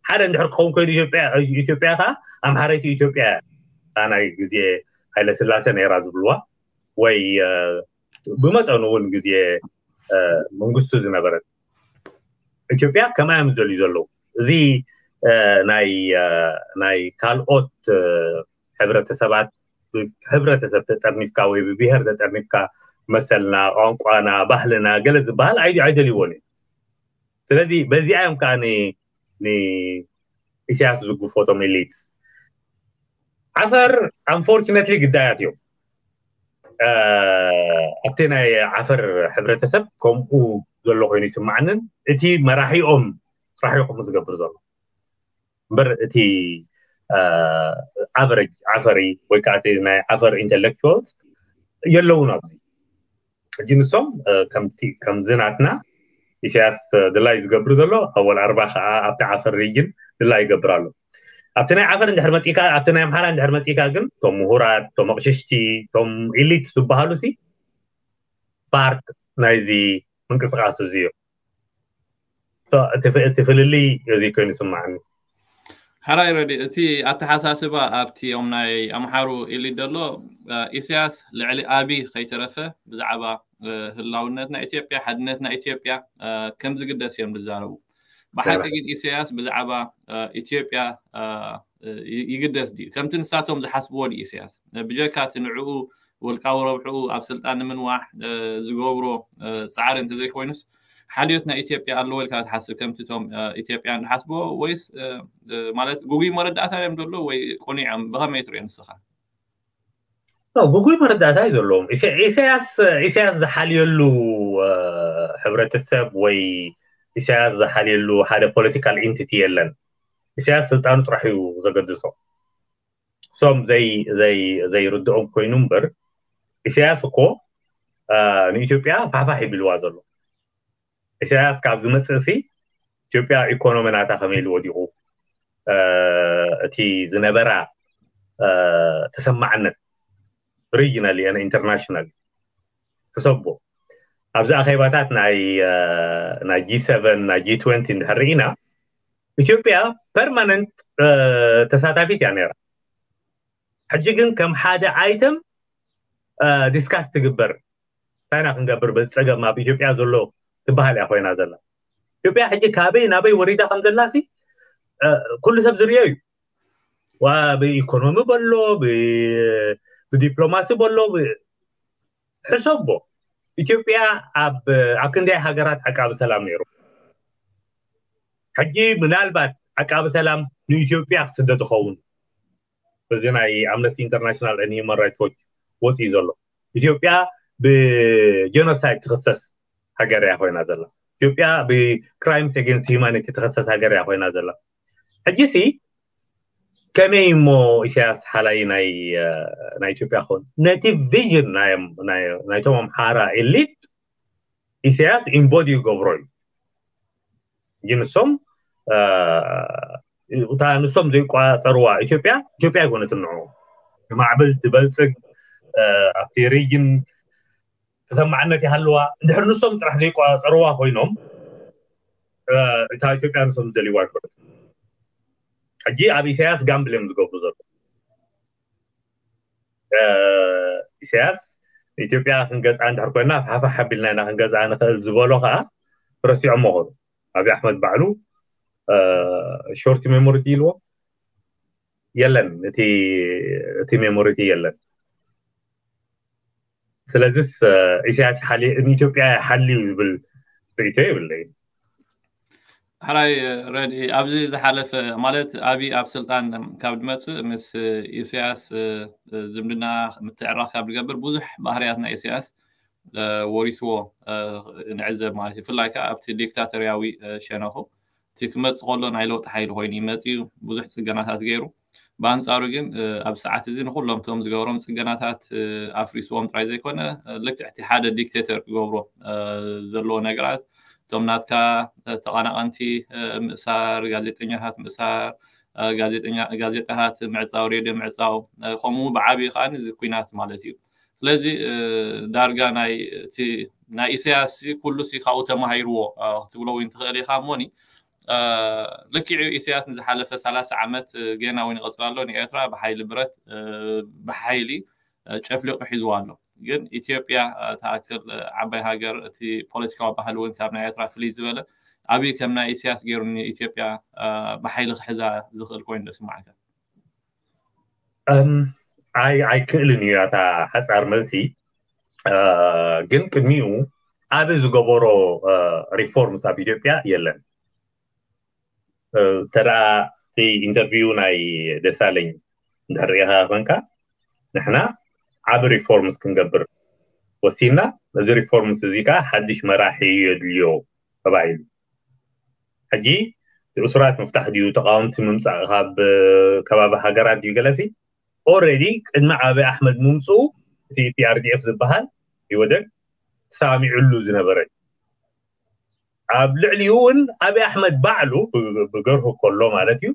ሓደ እንድሕር ክኸውን ኮይኑ፣ ኢትዮጵያ ኢትዮጵያ ከዓ ኣምሓረይቲ ኢትዮጵያ እያ። ናይ ግዜ ሃይለ ስላሴ ነይራ ዝብልዋ፣ ወይ ብመጠኑ እውን ግዜ መንግስቱ ዝነበረት ኢትዮጵያ ከምኣ እዮም ዝደልዩ ዘለዉ። እዚ ናይ ካልኦት ሕብረተሰባት፣ ብሕብረተሰብ ተጠርኒፍካ ወይ ብብሄር ተጠርኒፍካ፣ መሰልና፣ ቋንቋና፣ ባህልና ገለ ዝበሃል ኣይደልይዎን እዩ። ስለዚ በዚኣ እዮም ከዓ ንኢሳያስ ዝግፎቶም ኤሊት። ዓፈር፣ ኣንፎርችነትሊ፣ ግዳያት እዮም። ኣብቲ ናይ ዓፈር ሕብረተሰብ ከምኡ ዘሎ ኮይኑ ይስማዓንን፣ እቲ መራሒኦም ጥራሕ እዩ ከምኡ ዝገብር ዘሎ እምበር፣ እቲ ኣቨሬጅ ዓፈሪ ወይ ከዓ እቲ ናይ ዓፈር ኢንተሌክቹዋልስ የለውን ኣብዚ። ሕጂ ንሶም ከምዚ ናትና ኢሳያስ ድላይ ዝገብር ዘሎ፣ ኣወል ኣርባ ከዓ ኣብቲ ዓፈር ሪጅን ድላይ ይገብር ኣሎ። ኣብቲ ናይ ዓፈር እንድሕር መፂካ፣ ኣብቲ ናይ ኣምሓራ እንድሕር መፂካ ግን፣ እቶም ምሁራት፣ እቶም ኣቕሽሽቲ፣ እቶም ኢሊት ዝበሃሉ ሲ ፓርት ናይዚ ምንቅስቃስ እዚ እዮም። እቲ ፍልልይ እዚ ኮይኑ ይስማዓኒ። ሓራይ ረዲ፣ እቲ ኣተሓሳስባ ኣብቲ ኦም ናይ ኣምሓሩ ኢሊት ዘሎ፣ ኢሳያስ ልዕሊ ኣቢ ከይተረፈ ብዛዕባ ህላውነት ናይ ኢትዮጵያ፣ ሓድነት ናይ ኢትዮጵያ ከም ዝግደስ እዮም ዝዛረቡ። ብሓቂ ግን ኢሳያስ ብዛዕባ ኢትዮጵያ ይግደስ ድዩ? ከምቲ ንሳቶም ዝሓስብዎ ድዩ ኢሳያስ? ብጀካ እቲ ንዕኡ ውልቃዊ ረብሕኡ ኣብ ስልጣን ንምንዋሕ ዝገብሮ ፃዕሪ እንተዘይኮይኑስ፣ ሓልዮት ናይ ኢትዮጵያ ኣለዎ ኢልካ ትሓስብ? ከምቲ እቶም ኢትዮጵያን ዝሓስብዎ፣ ወይስ ማለት ግጉይ መረዳእታ እዮም ዘሎ ወይ ቅኑዕ እዮም? ብኸመይ ትሪኦ ንስኻ? ግጉይ መረዳእታ እዩ ዘለዎም። ኢሳያስ ኢሳያስ ዝሓልየሉ ሕብረተሰብ ወይ ኢሳያስ ዝሓልየሉ ሓደ ፖለቲካል ኢንቲቲ የለን። ኢሳያስ ስልጣኑ ጥራሕ እዩ ዘገድሶ። እሶም ዘይርድኦም ኮይኑ እምበር፣ ኢሳያስ እኮ ንኢትዮጵያ ፋሕፋሕ ይብልዋ ዘሎ። ኢሳያስ ካብ ዝመፅእ ሲ ኢትዮጵያ ኢኮኖሚ ናታ ከመይ ኢሉ ወዲቑ፣ እቲ ዝነበራ ተሰማዕነት ሪጅናል ነ ኢንተርናሽናል ክሰቦ። ኣብዚ ኣኼባታት ናይ ጂ ሰቨን፣ ናይ ጂ ትወንቲ እንድሕር ርኢና፣ ኢትዮጵያ ፐርማነንት ተሳታፊት እያ ነይራ። ሕጂ ግን ከም ሓደ ኣይተም ዲስካስ ትግበር፣ እንታይ ኢና ክንገብር በዚ ፀገም ኣብ ኢትዮጵያ ዘሎ ትበሃል እያ ኮይና ዘላ። ኢትዮጵያ ሕጂ ካበይ ናበይ ወሪዳ ከም ዘላሲ ኩሉ ሰብ ዝርዮ እዩ። ብኢኮኖሚ በሎ፣ ብዲፕሎማሲ በሎ፣ ሕሰቦ። ኢትዮጵያ ኣብ ኣብ ክንደይ ሃገራት ዓቃቢ ሰላም ነይሩ። ሕጂ ምናልባት ዓቃቢ ሰላም ንኢትዮጵያ ክስደድ ይኸውን። በዚ ናይ ኣምነስቲ ኢንተርናሽናል ን ሂማን ራይትስ ዎች ወፂኡ ዘሎ፣ ኢትዮጵያ ብጀኖሳይድ ትኽሰስ ሃገር እያ ኮይና ዘላ። ኢትዮጵያ ብክራይምስ ኤጌንስት ሂማኒቲ ትኽሰስ ሃገር እያ ኮይና ዘላ። ሕጂ ሲ ከመይ እሞ ኢሳያስ ሓላይ ናይ ናይ ኢትዮጵያ ክኸውን? ነቲ ቪዥን ናይቶም ኣምሓራ ኤሊት ኢሳያስ ኢምቦዲ ይገብሮ እዩ። ግን ንሶም እታ ንሶም ዘይቋፀርዋ ኢትዮጵያ፣ ኢትዮጵያ ኣይኮነትን ንዑ ማዕብል ትበልፅግ፣ ኣብቲ ሪጅን ተሰማዕነት ይሃልዋ። እንድሕር ንሶም ጥራሕ ዘይቋፀርዋ ኮይኖም፣ እታ ኢትዮጵያ ንሶም ዝደልይዋ ኣይኮነትን። ሕጂ ኣብ ኢሳያስ ጋምብል እዮም ዝገብሩ ዘሎ። ኢሳያስ ኢትዮጵያ ክንገዝኣ እንድሕር ኮይና፣ ፋሕፋሕ ኣቢልና ኢና ክንገዝኣ ንኽእል ዝበሎ ከዓ ረሲዖሞ ኾኑ። ኣብይ ኣሕመድ ባዕሉ ሾርት ሜሞሪ ኢልዎ የለን፣ እቲ እቲ ሜሞሪ የለን። ስለዚስ ኢሳያስ ሓሊ ንኢትዮጵያ ሓልዩ ዝብል ርእቶ የብለይ። ሕራይ ረድኢ፣ ኣብዚ ዝሓለፈ ማለት ኣብይ ኣብ ስልጣን ካብ ድመፅእ ምስ ኢሳያስ ዝምድና ምትዕራቕ ካብ ዝገብር ብዙሕ ባህርያት ናይ ኢሳያስ ወሪስዎ ንዕዘብ ማለት እዩ። ብፍላይ ከዓ ኣብቲ ዲክታቶርያዊ ሸነኹ እቲ ክመፅእ ከሎ ናይ ለውጢ ሓይሊ ኮይኑ ይመፅእ እዩ። ብዙሕ ፅገናታት ገይሩ። ብኣንፃሩ ግን ኣብ ሰዓት እዚ ንኩሎም እቶም ዝገበሮም ፅገናታት ኣፍሪስዎም ጥራይ ዘይኮነ ልክዕ እቲ ሓደ ዲክቴተር ክገብሮ ዘለዎ ነገራት እቶም ናትካ ተቐናቐንቲ ምእሳር፣ ጋዜጠኛታት ምእሳር፣ ጋዜጣታት ምዕፃው፣ ሬድዮ ምዕፃው ከምኡ ብዓብዪ ከዓ እዚ ኩናት ማለት እዩ። ስለዚ ዳርጋ ናይ ኢሳያስ ኩሉ ካብኡ ተማሂርዎ ክትብሎ እውን ትኽእል ኢኻ እሞኒ ልክዕ እዩ። ኢሳያስ ንዝሓለፈ ሰላሳ ዓመት ገና እውን ይቐፅል ኣሎ። ንኤርትራ ብሓይሊ ብረት ብሓይሊ ጨፍሊቑ ሒዝዋ ኣሎ። ግን ኢትዮጵያ ትኣክል ዓባይ ሃገር እቲ ፖለቲካዊ ባህሊ እውን ካብ ናይ ኤርትራ ፍልይ ዝበለ ኣብይ ከም ናይ ኢሳያስ ገይሩ ንኢትዮጵያ ብሓይሊ ክሕዛ ዝኽእል ኮይኑ ዶ ይስማዓካ? ኣይክእልን እዩ እታ ሓፃር መልሲ። ግን ቅድሚኡ ዓቢ ዝገበሮ ሪፎርምስ ኣብ ኢትዮጵያ የለን። ተደኣ ኢንተርቪው ናይ ደሳለኝ እንድሕር ሪኢኻ ኮንካ ንሕና ዓቢ ሪፎርምስ ክንገብር ወሲንና፣ እዚ ሪፎርምስ እዚ ከዓ ሓድሽ መራሒ የድልዮ ተባሂሉ። ሕጂ እቲ እሱራት ምፍታሕ ድዩ፣ ተቃወምቲ ምምፃእ ካብ ከባቢ ሃገራት ድዩ ገለሲ ኦረዲ ቅድሚ ዓብይ ኣሕመድ ምምፅኡ እቲ ፒኣርዲኤፍ ዝበሃል ይወደግ ተሳሚዑሉ ዝነበረ እዩ። ኣብ ልዕሊኡ እውን ኣብይ ኣሕመድ ባዕሉ ብገርሁ ከሎ ማለት እዩ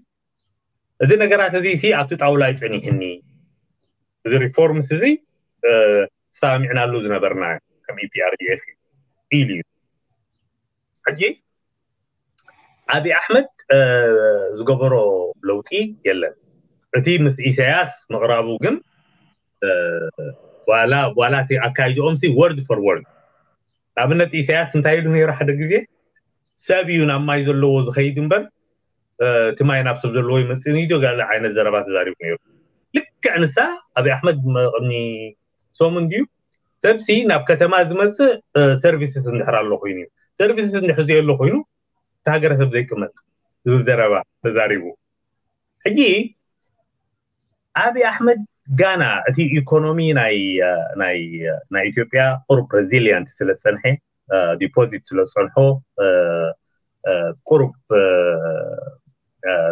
እዚ ነገራት እዚ ሲ ኣብቲ ጣውላ ይፀኒሕኒ እዚ ሪፎርምስ እዚ ተሳሚዕናሉ ዝነበርና ከም ኢፒኣርዲኤፍ ኢሉ እዩ። ሕጂ ኣብይ ኣሕመድ ዝገበሮ ለውጢ የለን። እቲ ምስ ኢሳያስ ምቕራቡ ግን ዋላ ዋላ እቲ ኣካይድኦም ሲ ወርድ ፎር ወርድ ኣብነት ኢሳያስ እንታይ ኢሉ ነይሩ ሓደ ግዜ ሰብ እዩ ናብ ማይ ዘለዎ ዝኸይድ እምበር እቲ ማይ ናብ ሰብ ዘለዎ ይመፅእ እዩ ገለ ዓይነት ዘረባ ተዛሪቡ ነይሩ። ልክዕ ንሳ ኣብይ ኣሕመድ ቅድሚ ሰሙን ድዩ ሰብሲ ናብ ከተማ ዝመፅእ ሰርቪስስ እንድሕር ኣሎ ኮይኑ እዩ ሰርቪስስ እንድሕር ዘየሎ ኮይኑ እቲ ሃገረሰብ ዘይቅመጥ ዝብል ዘረባ ተዛሪቡ። ሕጂ ኣብይ ኣሕመድ ጋና እቲ ኢኮኖሚ ናይ ናይ ናይ ኢትዮጵያ ቁሩብ ሬዚሊየንት ስለ ዝፀንሐ ዲፖዚት ስለ ዝፀንሖ ቁሩብ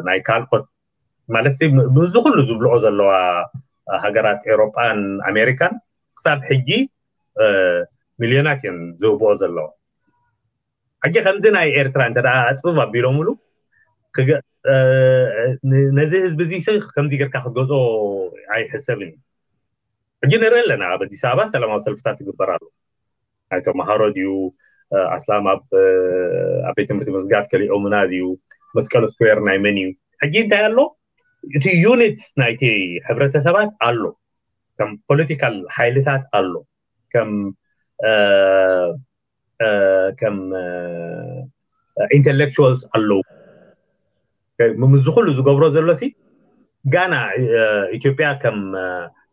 ናይ ካልኦት ማለት እዚ ኩሉ ዝብልዖ ዘለዋ ሃገራት ኤሮጳን ኣሜሪካን ክሳብ ሕጂ ሚልዮናት እዮም ዝህብኦ ዘለዋ። ሕጂ ከምዚ ናይ ኤርትራ እንተ ኣፅብብ ኣቢሎምሉ ነዚ ህዝቢ እዚ ከምዚ ጌርካ ክትገዝኦ ኣይሕሰብን እዩ። ሕጂ ንርኢ ኣለና ኣብ ኣዲስ ኣበባ ሰላማዊ ሰልፍታት ይግበር ኣሎ። ናይ ተምሃሮ ድዩ ኣስላም ኣብ ኣብ ቤት ትምህርቲ ምስጋድ ከሊኦምና ድዩ መስቀል ስኩዌር ናይ መን እዩ? ሕጂ እንታይ ኣሎ እቲ ዩኒት ናይቲ ሕብረተሰባት ኣሎ ከም ፖለቲካል ሓይልታት ኣሎ ከም ከም ኢንቴሌክቹዋልስ ኣለዉ። ምስዚ ኩሉ ዝገብሮ ዘሎ ሲ ጋና ኢትዮጵያ ከም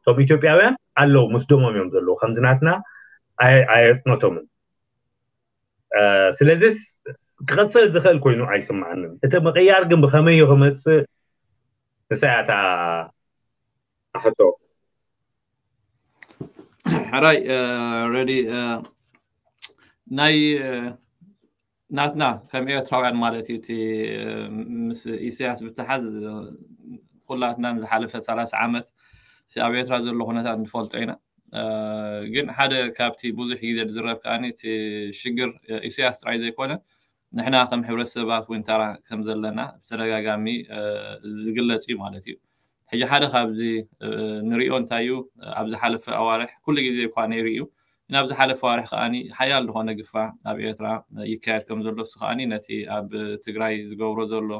እቶም ኢትዮጵያውያን ኣለዉ ምስ ደሞም እዮም ዘለዉ ከምዚ ናትና ኣየፅነቶምን። ስለዚስ ክቐፅል ዝኽእል ኮይኑ ኣይስምዓንን። እቲ ምቕያር ግን ብኸመይ እዩ ክመፅእ ንሳ እያ እታ ሕቶ። ሕራይ ረዲ ናይ ናትና ከም ኤርትራውያን ማለት እዩ እቲ ምስ ኢሳያስ ብተሓዝ ኩላትና ንዝሓለፈ ሰላሳ ዓመት ኣብ ኤርትራ ዘሎ ኩነታት ንፈልጦ ኢና። ግን ሓደ ካብቲ ብዙሕ ግዜ ዝዝረብ ከኣ እቲ ሽግር ኢሳያስ ጥራይ ዘይኮነ ንሕና ከም ሕብረተሰባት እውን ተራ ከም ዘለና ብተደጋጋሚ ዝግለጽ እዩ ማለት እዩ። ሕጂ ሓደ ካብዚ ንሪኦ እንታይ እዩ ኣብ ዝሓለፈ ኣዋርሕ ኩሉ ግዜ እኳ ነይሩ እዩ ናብ ዝሓለፈ ኣዋርሕ ከኣ ሓያል ዝኾነ ግፋ ኣብ ኤርትራ ይካየድ ከም ዘሎ እሱ ከኣ ነቲ ኣብ ትግራይ ዝገብሮ ዘሎ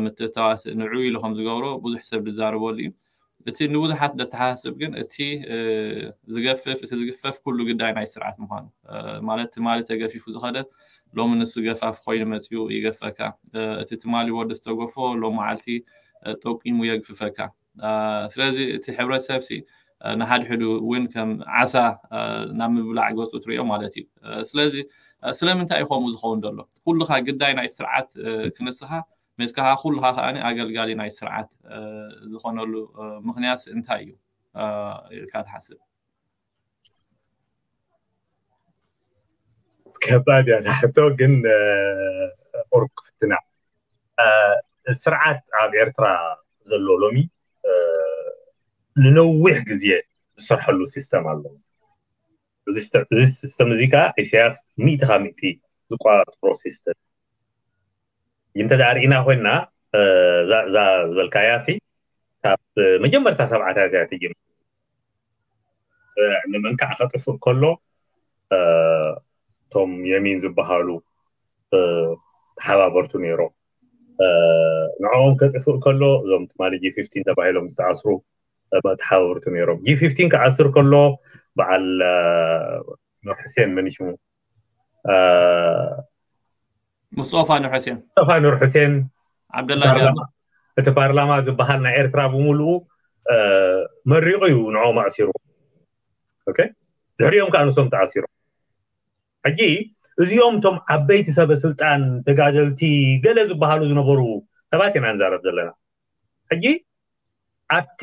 ምትእታዋት ንዑ ኢሉ ከም ዝገብሮ ብዙሕ ሰብ ዝዛረበሉ እዩ። እቲ ንብዙሓት ደተሓሳስብ ግን እቲ ዝገፍፍ እቲ ዝግፈፍ ኩሉ ግዳይ ናይ ስርዓት ምዃኑ ማለት ትማሊ ተገፊፉ ዝኸደ ሎሚ ንሱ ገፋፍ ኮይኑ መፅኡ ይገፈካ። እቲ ትማሊ ወዲ ዝተገፎ ሎም መዓልቲ ጠቂሙ የግፍፈካ። ስለዚ እቲ ሕብረተሰብ ሲ ንሓድሕዱ እውን ከም ዓሳ ናብ ምብላዕ ገፁ ትሪኦ ማለት እዩ። ስለዚ ስለምንታይ እዩ ከምኡ ዝኸውን ዘሎ? ኩልኻ ግዳይ ናይ ስርዓት ክንስኻ ሜስካኻ ኩልኻ ከኣ ኣገልጋሊ ናይ ስርዓት ዝኾነሉ ምኽንያት እንታይ እዩ ኢልካ ትሓስብ? ከባድ እያ ሕቶ ግን ቁሩብ ክፍትና። ስርዓት ኣብ ኤርትራ ዘሎ ሎሚ ንነዊሕ ግዜ ዝሰርሐሉ ሲስተም ኣሎ። እዚ ሲስተም እዚ ከዓ ኢሳያስ ሚእቲ ካብ ሚእቲ ዝቆፃፀሮ ሲስተም። እንተ ደኣ ርኢና ኮይንና እዛ ዝበልካያ ሲ ካብ መጀመርታ ሰብዓታት እያ ትጅምር። ንመንካዕ ከጥፍእ ከሎ እቶም የሚን ዝበሃሉ ተሓባበርቱ ነይሮም። ንዕኦም ከጥፍእ ከሎ እዞም ትማሊ ጂ ፊፍቲን ተባሂሎም ዝተኣስሩ ተሓባበርቱ ነይሮም። ጂ ፊፍቲን ክኣስር ከሎ በዓል ኑር ሕሴን መን ሽሙ ሙስጦፋ ኑር ሕሴን ሙስጦፋ ኑር ሕሴን ዓብደላ እቲ ፓርላማ ዝበሃል ናይ ኤርትራ ብምሉኡ መሪቑ እዩ ንዕኦም ኣእሲሩ። ድሕሪኦም ከዓ ንሶም ተኣሲሮም። ሕጂ እዚኦም እቶም ዓበይቲ ሰበ ስልጣን ተጋደልቲ ገለ ዝበሃሉ ዝነበሩ ሰባት ኢና ንዛረብ ዘለና። ሕጂ ኣብቲ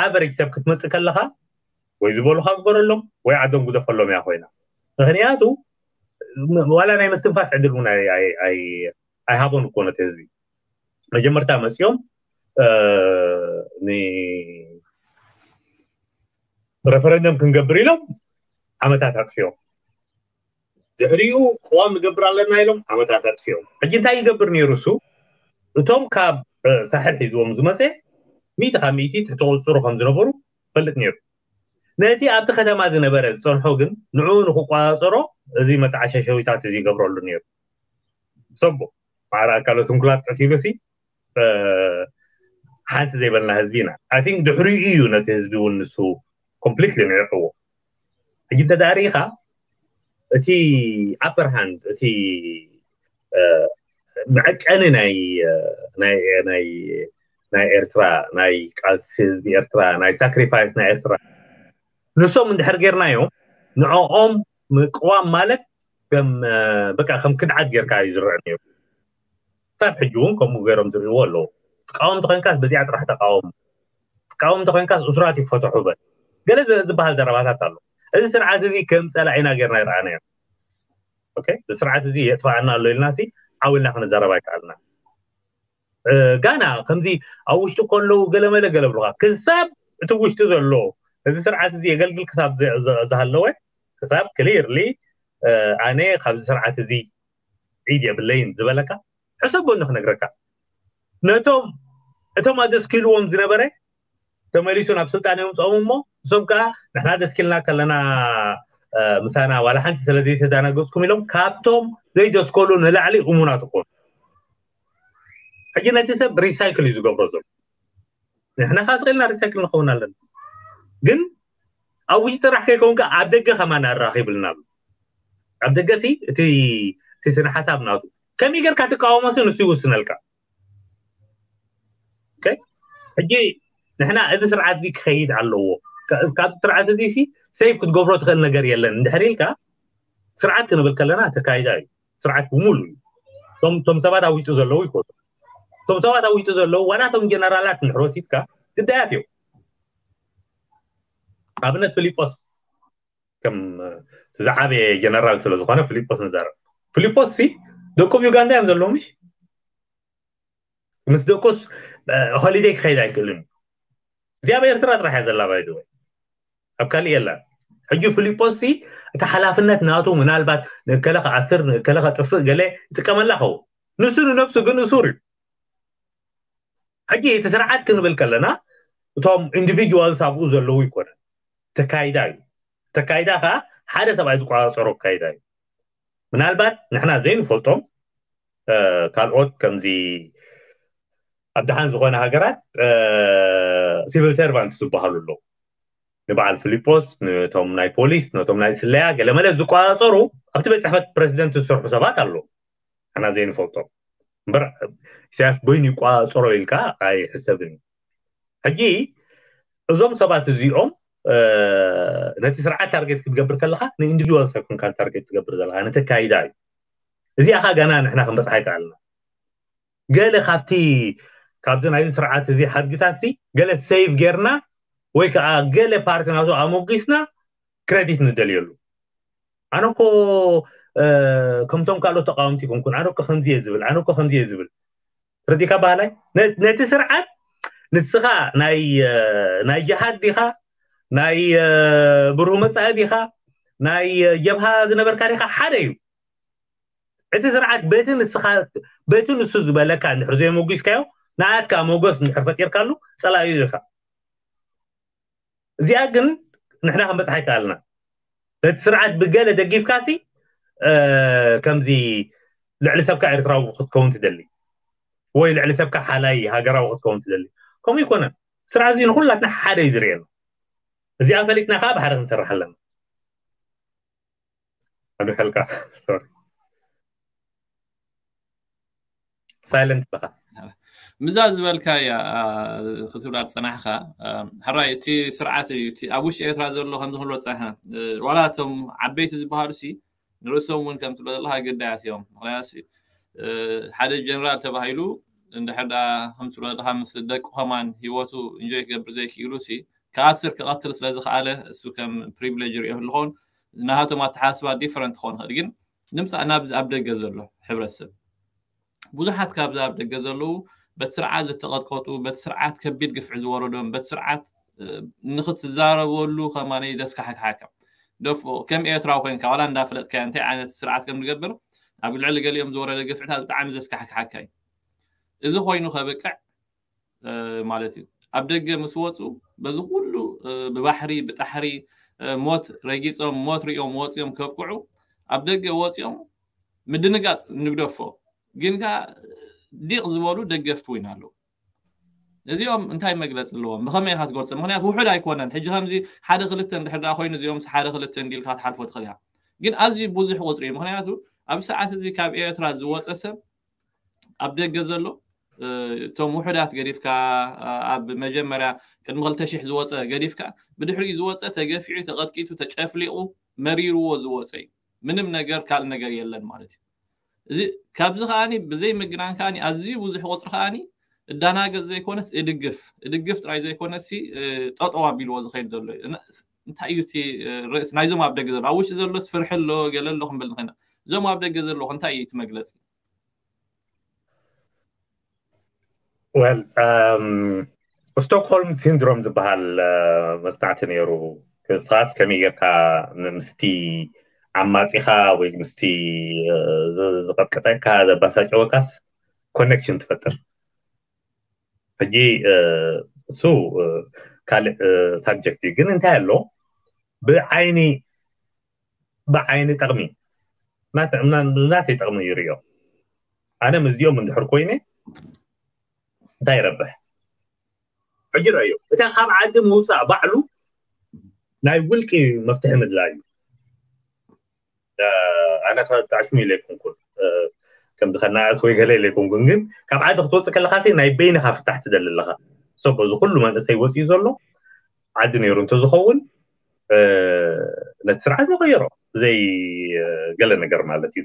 ኣቨሬጅ ሰብ ክትመፅእ ከለኻ ወይ ዝበሉኻ ግበረሎም ወይ ዓዶም ግደፈሎም እያ ኮይና። ምክንያቱ ዋላ ናይ ምስትንፋስ ዕድል እውን ኣይሃቦን እኮ ነቲ ህዝቢ። መጀመርታ መፅኦም ሬፈረንደም ክንገብር ኢሎም ዓመታት ኣጥፊኦም። ድሕሪኡ ቅዋም ንገብር ኣለና ኢሎም ዓመታት ኣጥፊኦም። ሕጂ እንታይ ይገብር ነይሩ እሱ? እቶም ካብ ሳሕል ሒዝዎም ዝመፀ ሚእቲ ካብ ሚእቲ ትሕቲ ቁፅፅሩ ከም ዝነበሩ ፈልጥ ነይሩ። ነቲ ኣብቲ ከተማ ዝነበረ ዝፀንሖ ግን ንዕኡ ንክቆፃፀሮ እዚ መተዓሻሸዊታት እዚ ይገብረሉ ነይሩ። ሰቡ ማዕረ ኣካለ ስንኩላት ቀቲሉ ሲ ሓንቲ ዘይበልና ህዝቢ ኢና። I think ድሕሪኡ እዩ ነቲ ህዝቢ እውን ንሱ ኮምፕሊትሊ ንዒቕዎ። ሕጂ እንተ ደኣ ርኢኻ እቲ ኣፐር ሃንድ እቲ መዐቀኒ ናይ ናይ ናይ ናይ ኤርትራ ናይ ቃልሲ ህዝቢ ኤርትራ ናይ ሳክሪፋይስ ናይ ኤርትራ ንሶም እንድሕር ጌርናዮም ንዕኦም ምቅዋም ማለት ከም በቃ ከም ክድዓት ጌርካ እዩ ዝረአ ነይሩ። ክሳብ ሕጂ እውን ከምኡ ገይሮም ዝርእይዎ ኣለዉ። ትቃወም ተኮይንካስ በዚኣ ጥራሕ ተቃወም፣ ትቃወም ተኮይንካስ እሱራት ይፈተሑ በል። ገለ ዝበሃል ዘረባታት ኣሎ። እዚ ስርዓት እዚ ከም ፀላኢና ጌርና ይረኣናዮ። እዚ ስርዓት እዚ የጥፋኣና ኣሎ ኢልና ሲ ዓው ኢልና ክንዛረብ ኣይከኣልና። ጋና ከምዚ ኣብ ውሽጢ ከለዉ ገለመለ ገለ ብሉካ ክሳብ እቲ ውሽጢ ዘሎ እዚ ስርዓት እዚ የገልግል ክሳብ ዝሃለወ ክሳብ ክሊርሊ ኣነ ካብዚ ስርዓት እዚ ኢድ የብለይን ዝበለካ ሕሰቦ ንክነግረካ ነቶም እቶም ኣደስኪልዎም ዝነበረ ተመሊሱ ናብ ስልጣን የምፅኦም እሞ እሶም ከዓ ንሕና ደስኪልና ከለና ምሳና ዋላ ሓንቲ ስለዘይተዳናገፅኩም ኢሎም ካብቶም ዘይደስከሉ ንላዕሊ እሙናት ይኮኑ። ሕጂ ነቲ ሰብ ሪሳይክል እዩ ዝገብሮ ዘሎ። ንሕና ከዓ ስቅልና ሪሳይክል ንኸውን ኣለና። ግን ኣብ ውሽጢ ጥራሕ ከይከውን ከዓ ኣብ ደገ ከማን ኣራኺብልና ኣሎ። ኣብ ደገ እቲ እቲ ስነ ሓሳብ ናቱ ከመይ ጌርካ ትቃወሞ ሲ ንሱ ይውስነልካ። ሕጂ ንሕና እዚ ስርዓት እዚ ክኸይድ ኣለዎ። ካብ ስርዓት እዚ ሲ ሴፍ ክትገብሮ ትኽእል ነገር የለን እንድሕር ኢልካ ስርዓት ክንብል ከለና ተካይዳ እዩ። ስርዓት ብምሉ እዩ። እቶም ሰባት ኣብ ውሽጢ ዘለዉ ይኮኑ። እቶም ሰባት ኣብ ውሽጢ ዘለዉ ዋላ እቶም ጀነራላት እንድሕር ወሲድካ ግዳያት እዮም። ኣብነት ፊሊጶስ ከም ዝዓበየ ጀነራል ስለ ዝኾነ ፊሊጶስ ንዛረብ። ፊሊጶስ ሲ ደቁ ዩጋንዳ እዮም ዘለዉ ምሽ ምስ ደቁስ ሆሊደይ ክኸይድ ኣይክእልን። እዚኣ ኣብ ኤርትራ ጥራሕ እያ ዘላ ባይዘወይ ኣብ ካልእ የላን። ሕጂ ፊሊጶስ ሲ እቲ ሓላፍነት ናቱ ምናልባት ንእከለ ክኣስር ንእከለ ከጥፍእ ገለ ይጥቀመላ ኸውን። ንሱ ንነብሱ ግን እሱር እዩ። ሕጂ እቲ ስርዓት ክንብል ከለና እቶም ኢንዲቪጁዋልስ ኣብኡ ዘለዉ ይኮነ ተካይዳ እዩ። ተካይዳ ከዓ ሓደ ሰብኣይ ዝቆፃፀሮ ኣካይዳ እዩ። ምናልባት ንሕና ዘይንፈልጦም ካልኦት ከምዚ ኣብ ደሓን ዝኾነ ሃገራት ሲቪል ሰርቫንት ዝበሃሉ ኣለዉ። ንበዓል ፊሊጶስ፣ ነቶም ናይ ፖሊስ፣ ነቶም ናይ ስለያ ገለመለ ዝቆፃፀሩ ኣብቲ ቤት ፅሕፈት ፕረዚደንት ዝሰርሑ ሰባት ኣለዉ። ኣና ዘይንፈልጦም እምበር ኢሳያስ በይኑ ይቆፃፀሮ ኢልካ ኣይሕሰብን እዩ። ሕጂ እዞም ሰባት እዚኦም ነቲ ስርዓት ታርጌት ክትገብር ከለካ ንኢንዲቪድዋል ኣይኮንካ ታርጌት ትገብር ዘለካ፣ ነቲ ኣካይዳ እዩ። እዚኣ ካ ገና ንሕና ክንበፅሓ ይከኣልና። ገለ ካብቲ ካብዚ ናይዚ ስርዓት እዚ ሓድግታት ሲ ገለ ሴቭ ጌርና ወይ ከዓ ገለ ፓርቲ ናቱ ኣሞጊስና ክሬዲት ንደልየሉ። ኣነ እኮ ከምቶም ካልኦት ተቃወምቲ ይኮንኩን፣ ኣነ እኮ ከምዚ እየ ዝብል፣ ኣነ እኮ ከምዚ እየ ዝብል። ረዲካ ባህላይ ነቲ ስርዓት ንስኻ ናይ ናይ ጅሃድ ዲኻ፣ ናይ ብሩህ መፃኢ ዲኻ፣ ናይ ጀብሃ ዝነበርካ ዲኻ፣ ሓደ እዩ። እቲ ስርዓት በቲ ንስኻ በቲ ንሱ ዝበለካ እንድሕር ዘየመጒስካዮ ንኣትካ ሞገስ እንድሕር ፈጢርካሉ ፀላዩ ኢኻ። እዚኣ ግን ንሕና ክንበፅሓ ይከኣልና። ነቲ ስርዓት ብገለ ደጊፍካሲ ከምዚ ልዕሊ ሰብካ ኤርትራዊ ክትከውን ትደሊ ወይ ልዕሊ ሰብካ ሓላይ ሃገራዊ ክትከውን ትደሊ፣ ከምኡ ይኮነን። ስርዓት እዚ ንኩላትና ሓደ እዩ ዝርእየና። እዚኣ ፈሊጥና ከዓ ብሓደ ክንሰርሕ ኣለና። ኣዱሐልካ ሳይለንት በኻ። ምዛ ዝበልካ እያ ክትብላ ዝፀናሕካ። ሕራይ እቲ ስርዓት እዩ እቲ ኣብ ውሽጢ ኤርትራ ዘሎ ከምዚ ክንብሎ ፀናሕና። ዋላ እቶም ዓበይቲ ዝበሃሉ ሲ ንርእሶም እውን ከም ትብሎ ዘለካ ግዳያት እዮም። ምክንያቱ ሓደ ጀነራል ተባሂሉ እንድሕር ዳ ከም ትብሎ ዘለካ ምስ ደቁ ከማን ሂወቱ እንጆይ ክገብር ዘይክኢሉ ሲ ክኣስር ክቐትል ስለዝኸኣለ እሱ ከም ፕሪቪሌጅ ሪኦ ኣለኾን ናሃቶም ኣተሓስባ ዲፈረንት ክኾን ይኽእል። ግን ንምፃእ ናብዚ ኣብ ደገ ዘሎ ሕብረተሰብ ብዙሓት ካብዚ ኣብ ደገ ዘለዉ በቲ ስርዓት ዝተቐጥቀጡ፣ በቲ ስርዓት ከቢድ ግፍዒ ዝወረዶም፣ በቲ ስርዓት ንክትዛረበሉ ከማኒ ዘስካሕክሓካ ደፎ ከም ኤርትራዊ ኮይንካ ዋላ እንዳፈለጥካ እንታይ ዓይነት ስርዓት ከም ዝገብር ኣብ ልዕሊ ገሊኦም ዝወረደ ግፍዕታት ብጣዕሚ ዘስካሕክሓካ እዩ። እዚ ኮይኑ ከብቅዕ ማለት እዩ። ኣብ ደገ ምስ ወፁ በዚ ኩሉ ብባሕሪ ብጣሕሪ ሞት ረጊፆም ሞት ሪኦም ወፂኦም ከብቅዑ ኣብ ደገ ወፂኦም ምድንጋፅ ንግደፎ። ግን ከ ዲቕ ዝበሉ ደገፍቲ ወይን ኣለዉ። እዚኦም እንታይ መግለፂ ኣለዎም? ብኸመይ ኢኻ ትገልፆ? ምክንያቱ ውሑድ ኣይኮነን። ሕጂ ከምዚ ሓደ ክልተ እንድሕር ደኣ ኮይኑ እዚኦም ሓደ ክልተ እንዲልካ ትሓልፎ ትኽእል ኢኻ። ግን ኣዝዩ ብዙሕ ቁፅሪ እዩ። ምክንያቱ ኣብ ሰዓት እዚ ካብ ኤርትራ ዝወፀ ሰብ ኣብ ደገ ዘሎ እቶም ውሑዳት ገዲፍካ ኣብ መጀመርያ ቅድሚ ክልተ ሽሕ ዝወፀ ገዲፍካ ብድሕሪኡ ዝወፀ ተገፊዑ ተቐጥቂቱ ተጨፍሊቑ መሪርዎ ዝወፀ እዩ። ምንም ነገር ካልእ ነገር የለን ማለት እዩ። እዚ ካብዚ ከዓኒ ብዘይ ምግናን ከዓኒ ኣዝዩ ብዙሕ ቁፅሪ ከዓኒ እዳናገፅ ዘይኮነስ እድግፍ እድግፍ ጥራይ ዘይኮነስ ጠጠው ኣቢልዎ ዝኸይድ ዘሎ እዩ። እንታይ እዩ እቲ ርእስ ናይዞም ኣብ ደገ ዘሎ ኣብ ውሽጢ ዘሎስ ፍርሒ ኣሎ ገለ ኣሎ ክንብል ንኽእል። እዞም ኣብ ደገ ዘለኹ እንታይ እዩ እቲ መግለፂ? ወል ስቶክሆልም ሲንድሮም ዝበሃል መፅናዕቲ ነይሩ። ክሳት ከመይ ጌርካ ምስቲ ዓማፂኻ ወይ ምስቲ ዝቐጥቀጠካ ዘባሳጨወካስ ኮኔክሽን ትፈጥር። ሕጂ እሱ ካልእ ሳብጀክት እዩ። ግን እንታይ ኣሎ ብዓይኒ ብዓይኒ ጠቕሚ ናተይ ጠቕሚ ይርእዮ። ኣነ ምስዚኦም እንድሕር ኮይነ እንታይ ይረብሕ? ሕጂ ረእዮ እታ ካብ ዓዲ ምውፃእ ባዕሉ ናይ ውልቂ መፍትሒ ምድላይ እዩ። ኣነ ተዕሽሙ ኢለ ኣይኮንኩን ከምዚ ከናእስ ወይ ገለ ኢለ ኣይኮንኩን፣ ግን ካብ ዓዲ ክትወፅእ ከለካ ናይ በይንካ ፍታሕ ትደሊ ኣለካ። ሶ በዚ ኩሉ መንእሰይ ወፂኡ ዘሎ ዓዲ ነይሩ እንተዝኸውን ነቲ ስርዓት ይቐይሮ ብዘይ ገለ ነገር ማለት እዩ።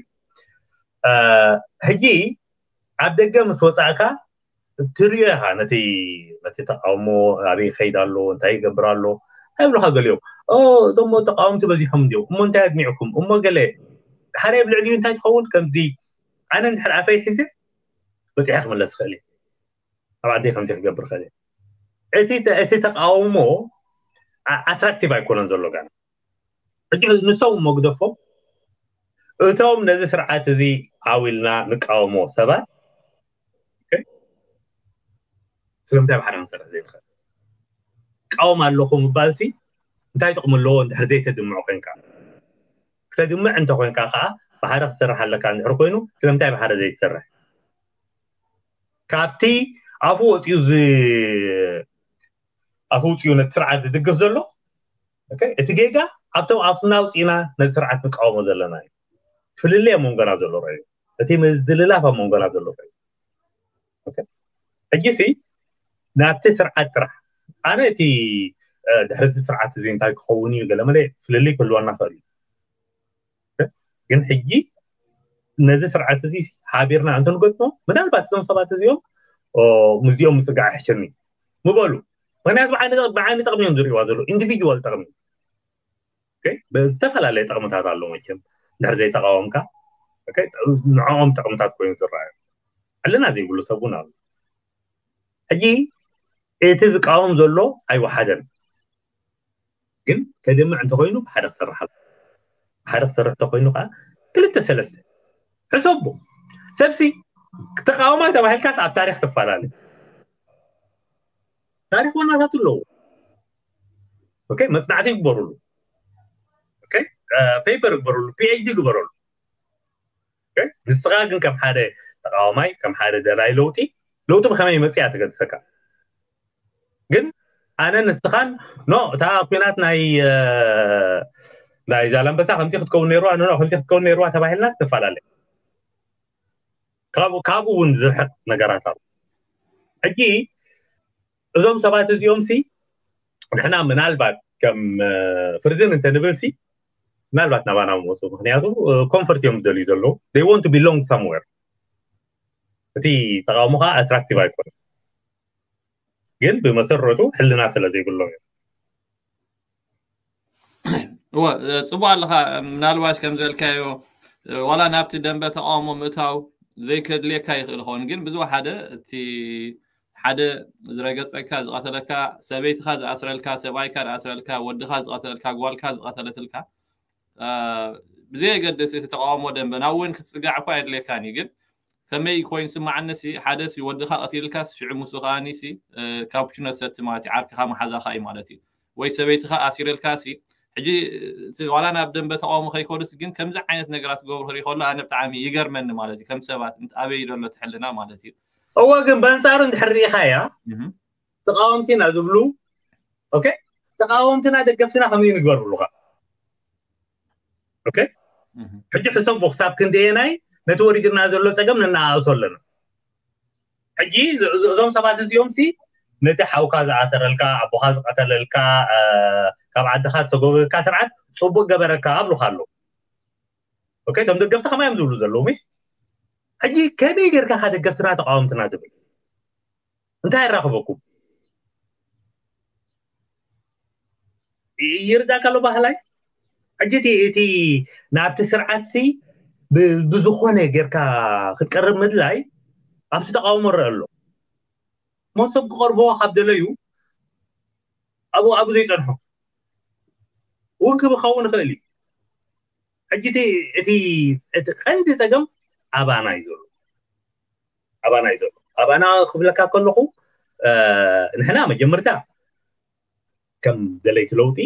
ሕጂ ኣብ ደገ ምስ ወፃእካ ትሪኦ ኢኻ ነቲ ነቲ ተቃውሞ ኣበይ ይኸይድ ኣሎ እንታይ ይገብር ኣሎ እንታይ ይብሉኻ ገሊኦም። እዞሞ ተቃወምቲ በዚሖም እንዲዮም እሞ እንታይ ኣድሚዕኩም እሞ ገለ ሓደ ኣብ ልዕሊኡ እንታይ ትኸውን ከምዚ ኣነ እንድሕር ኣፈይ ሒዘ በፂሐ ክምለስ ይኽእል እየ። ኣብ ዓደይ ከምዚ ክገብር ይኽእል እየ። እቲ ተቃውሞ ኣትራክቲቭ ኣይኮነን ዘሎ ጋና ሕጂ ንሶም እሞ ግደፎም እቶም ነዚ ስርዓት እዚ ዓው ኢልና ንቃወሞ ሰባት ስለምንታይ ብሓደ ክንሰርሕ ዘይንኽእል? ቃወም ኣለኹ ምባልሲ እንታይ ጥቕሚ ኣለዎ እንድሕር ዘይተድምዖ ኮይንካ? ክተድምዕ እንተኮይንካ ከዓ ብሓደ ክትሰርሕ ኣለካ እንድሕር ኮይኑ ስለምንታይ ብሓደ ዘይትሰርሕ? ካብቲ ኣፉ ወፂኡ ዝ ኣፉ ወፂኡ ነቲ ስርዓት ዝድግፍ ዘሎ እቲ ጌጋ ኣብቶም ኣፍና ውፅኢና ነቲ ስርዓት ንቃወሞ ዘለና እዩ። ፍልልይ ኣብ መንጎና ዘሎ ረዩ፣ እቲ ምዝልላፍ ኣብ መንጎና ዘሎ ረዩ። ሕጂ ሲ ናብቲ ስርዓት ጥራሕ ኣነ እቲ ድሕሪ እዚ ስርዓት እዚ እንታይ ክኸውን እዩ ገለመለ ፍልልይ ክህልወና ክእል እዩ። ግን ሕጂ ነዚ ስርዓት እዚ ሓቢርና እንተንገጥሞ ምናልባት እዞም ሰባት እዚኦም ምስዚኦም ምፅጋዕ ይሕሸኒ ምበሉ። ምክንያቱ ብዓይኒ ጠቕሚ እዮም ዝርእዋ ዘሎ ኢንዲቪድዋል ጠቕሚ ብዝተፈላለየ ጠቕምታት ኣሎ። መቸም ድሕር ዘይተቃወምካ ንዕኦም ጠቕምታት ኮይኑ ዝረኣዩ ዕልና ዘይብሉ ሰብ እውን ኣሎ። ሕጂ እቲ ዝቃወም ዘሎ ኣይወሓደን። ግን ከድምዕ እንተኮይኑ ብሓደ ክሰርሕ ብሓደ ክሰርሕ እንተኮይኑ ከዓ ክልተ ሰለስተ ሕሰቡ። ሰብሲ ተቃዋማይ ተባሂልካስ ኣብ ታሪክ ትፈላለ። ታሪክ ዋናታት ኣለዎ። መፅናዕቲ ይግበሩሉ፣ ፔፐር ይግበሩሉ፣ ፒኤችዲ ይግበረሉ። ንስኻ ግን ከም ሓደ ተቃዋማይ ከም ሓደ ደላይ ለውጢ ለውጢ ብከመይ መፅያ ተገድሰካ። ግን ኣነ ንስኻን ኖ እታ ኩናት ናይ ናይ ዛላንበሳ ከምዚ ክትከውን ነይርዋ ኖ ከምዚ ክትከውን ነይርዋ ተባሂልና ትፈላለ። ካብኡ እውን ዝርሕቅ ነገራት ኣሎ። ሕጂ እዞም ሰባት እዚኦም ሲ ንሕና ምናልባት ከም ፍርዝን እንተንብል ሲ ምናልባት ናባና መፁ። ምክንያቱ ኮንፈርት እዮም ዝደልዩ ዘለዉ። They want to belong somewhere። እቲ ተቃውሞ ከዓ ኣትራክቲቭ ኣይኮነ። ግን ብመሰረቱ ሕልና ስለ ዘይብሎም እዮም። እወ፣ ጽቡቅ ኣለኻ። ምናልባሽ ከም ዝበልካዮ ዋላ ናብቲ ደንበ ተቃውሞ ምእታው ዘይከድልየካ ይኽእል ይኸውን። ግን ብዙ ሓደ እቲ ሓደ ዝረገጸካ ዝቐተለካ፣ ሰበይትኻ ዝኣስረልካ፣ ሰብኣይካ ዝኣስረልካ፣ ወድኻ ዝቐተለልካ፣ ጓልካ ዝቐተለትልካ፣ ብዘየገድስ እቲ ተቃውሞ ደንበ ናብ እውን ክትጽጋዕ እኳ የድልየካን እዩ። ግን ከመይ ኮይኑ ስማዓኒ ሲ ሓደ ሲ ወድኻ ቀቲልካስ ሽዑ ምስኡ ከኣኒ ሲ ካፕቹኖ ሰቲ ማለት እዩ፣ ዓርክኻ መሓዛኻ እዩ ማለት እዩ። ወይ ሰበይትኻ ኣሲረልካ ሲ ሕጂ ዋላ ናብ ደንበ ተቃውሞ ከይኮዱስ ግን ከምዚ ዓይነት ነገራት ዝገብሩ ክርኢ ከሎ ኣነ ብጣዕሚ ይገርመኒ ማለት እዩ። ከም ሰባት ኣበይ ዘሎ ትሕልና ማለት እዩ። እወ ግን በንጻሩ እንድሕር ርኢኻያ ተቃወምቲና ዝብሉ ኦኬ ተቃወምትና ደገፍትና ከምዚ ንግበር ብሉካ ኦኬ ሕጂ ሕሰቡ ክሳብ ክንደየናይ ነቲ ወሪድና ዘሎ ፀገም ነናኣእሶ ኣለና። ሕጂ እዞም ሰባት እዚኦም ሲ ነቲ ሓውካ ዝኣሰረልካ ኣቦካ ዝቀተለልካ ካብ ዓድካ ዝተጎበካ ስርዓት ፅቡቅ ገበረካ ኣብሉካ ኣለዉ። ኦኬ እቶም ደገፍቲ ከማይ እዮም ዝብሉ ዘለዉ። ሕጂ ከመይ ጌርካ ካ ደገፍትና ተቃወምትና ትብል እንታይ የራኽበኩም? ይርዳእ ካሎ ባህላይ ሕጂ እቲ ናብቲ ስርዓት ሲ ብዝኾነ ጌርካ ክትቀርብ ምድላይ ኣብቲ ተቃውሞ ረአ ኣሎ። ሞት ሰብ ክቐርቦ ካብ ደለዩ ኣብኡ ኣብኡ ዘይፀንሖ እውን ክብኸውን ይኽእል እዩ። ሕጂ እቲ እቲ ቀንዲ ፀገም ኣባና እዩ ዘሎ። ኣባና እዩ ዘሎ። ኣባና ክብለካ ከለኹ ንሕና መጀመርታ ከም ደለይቲ ለውጢ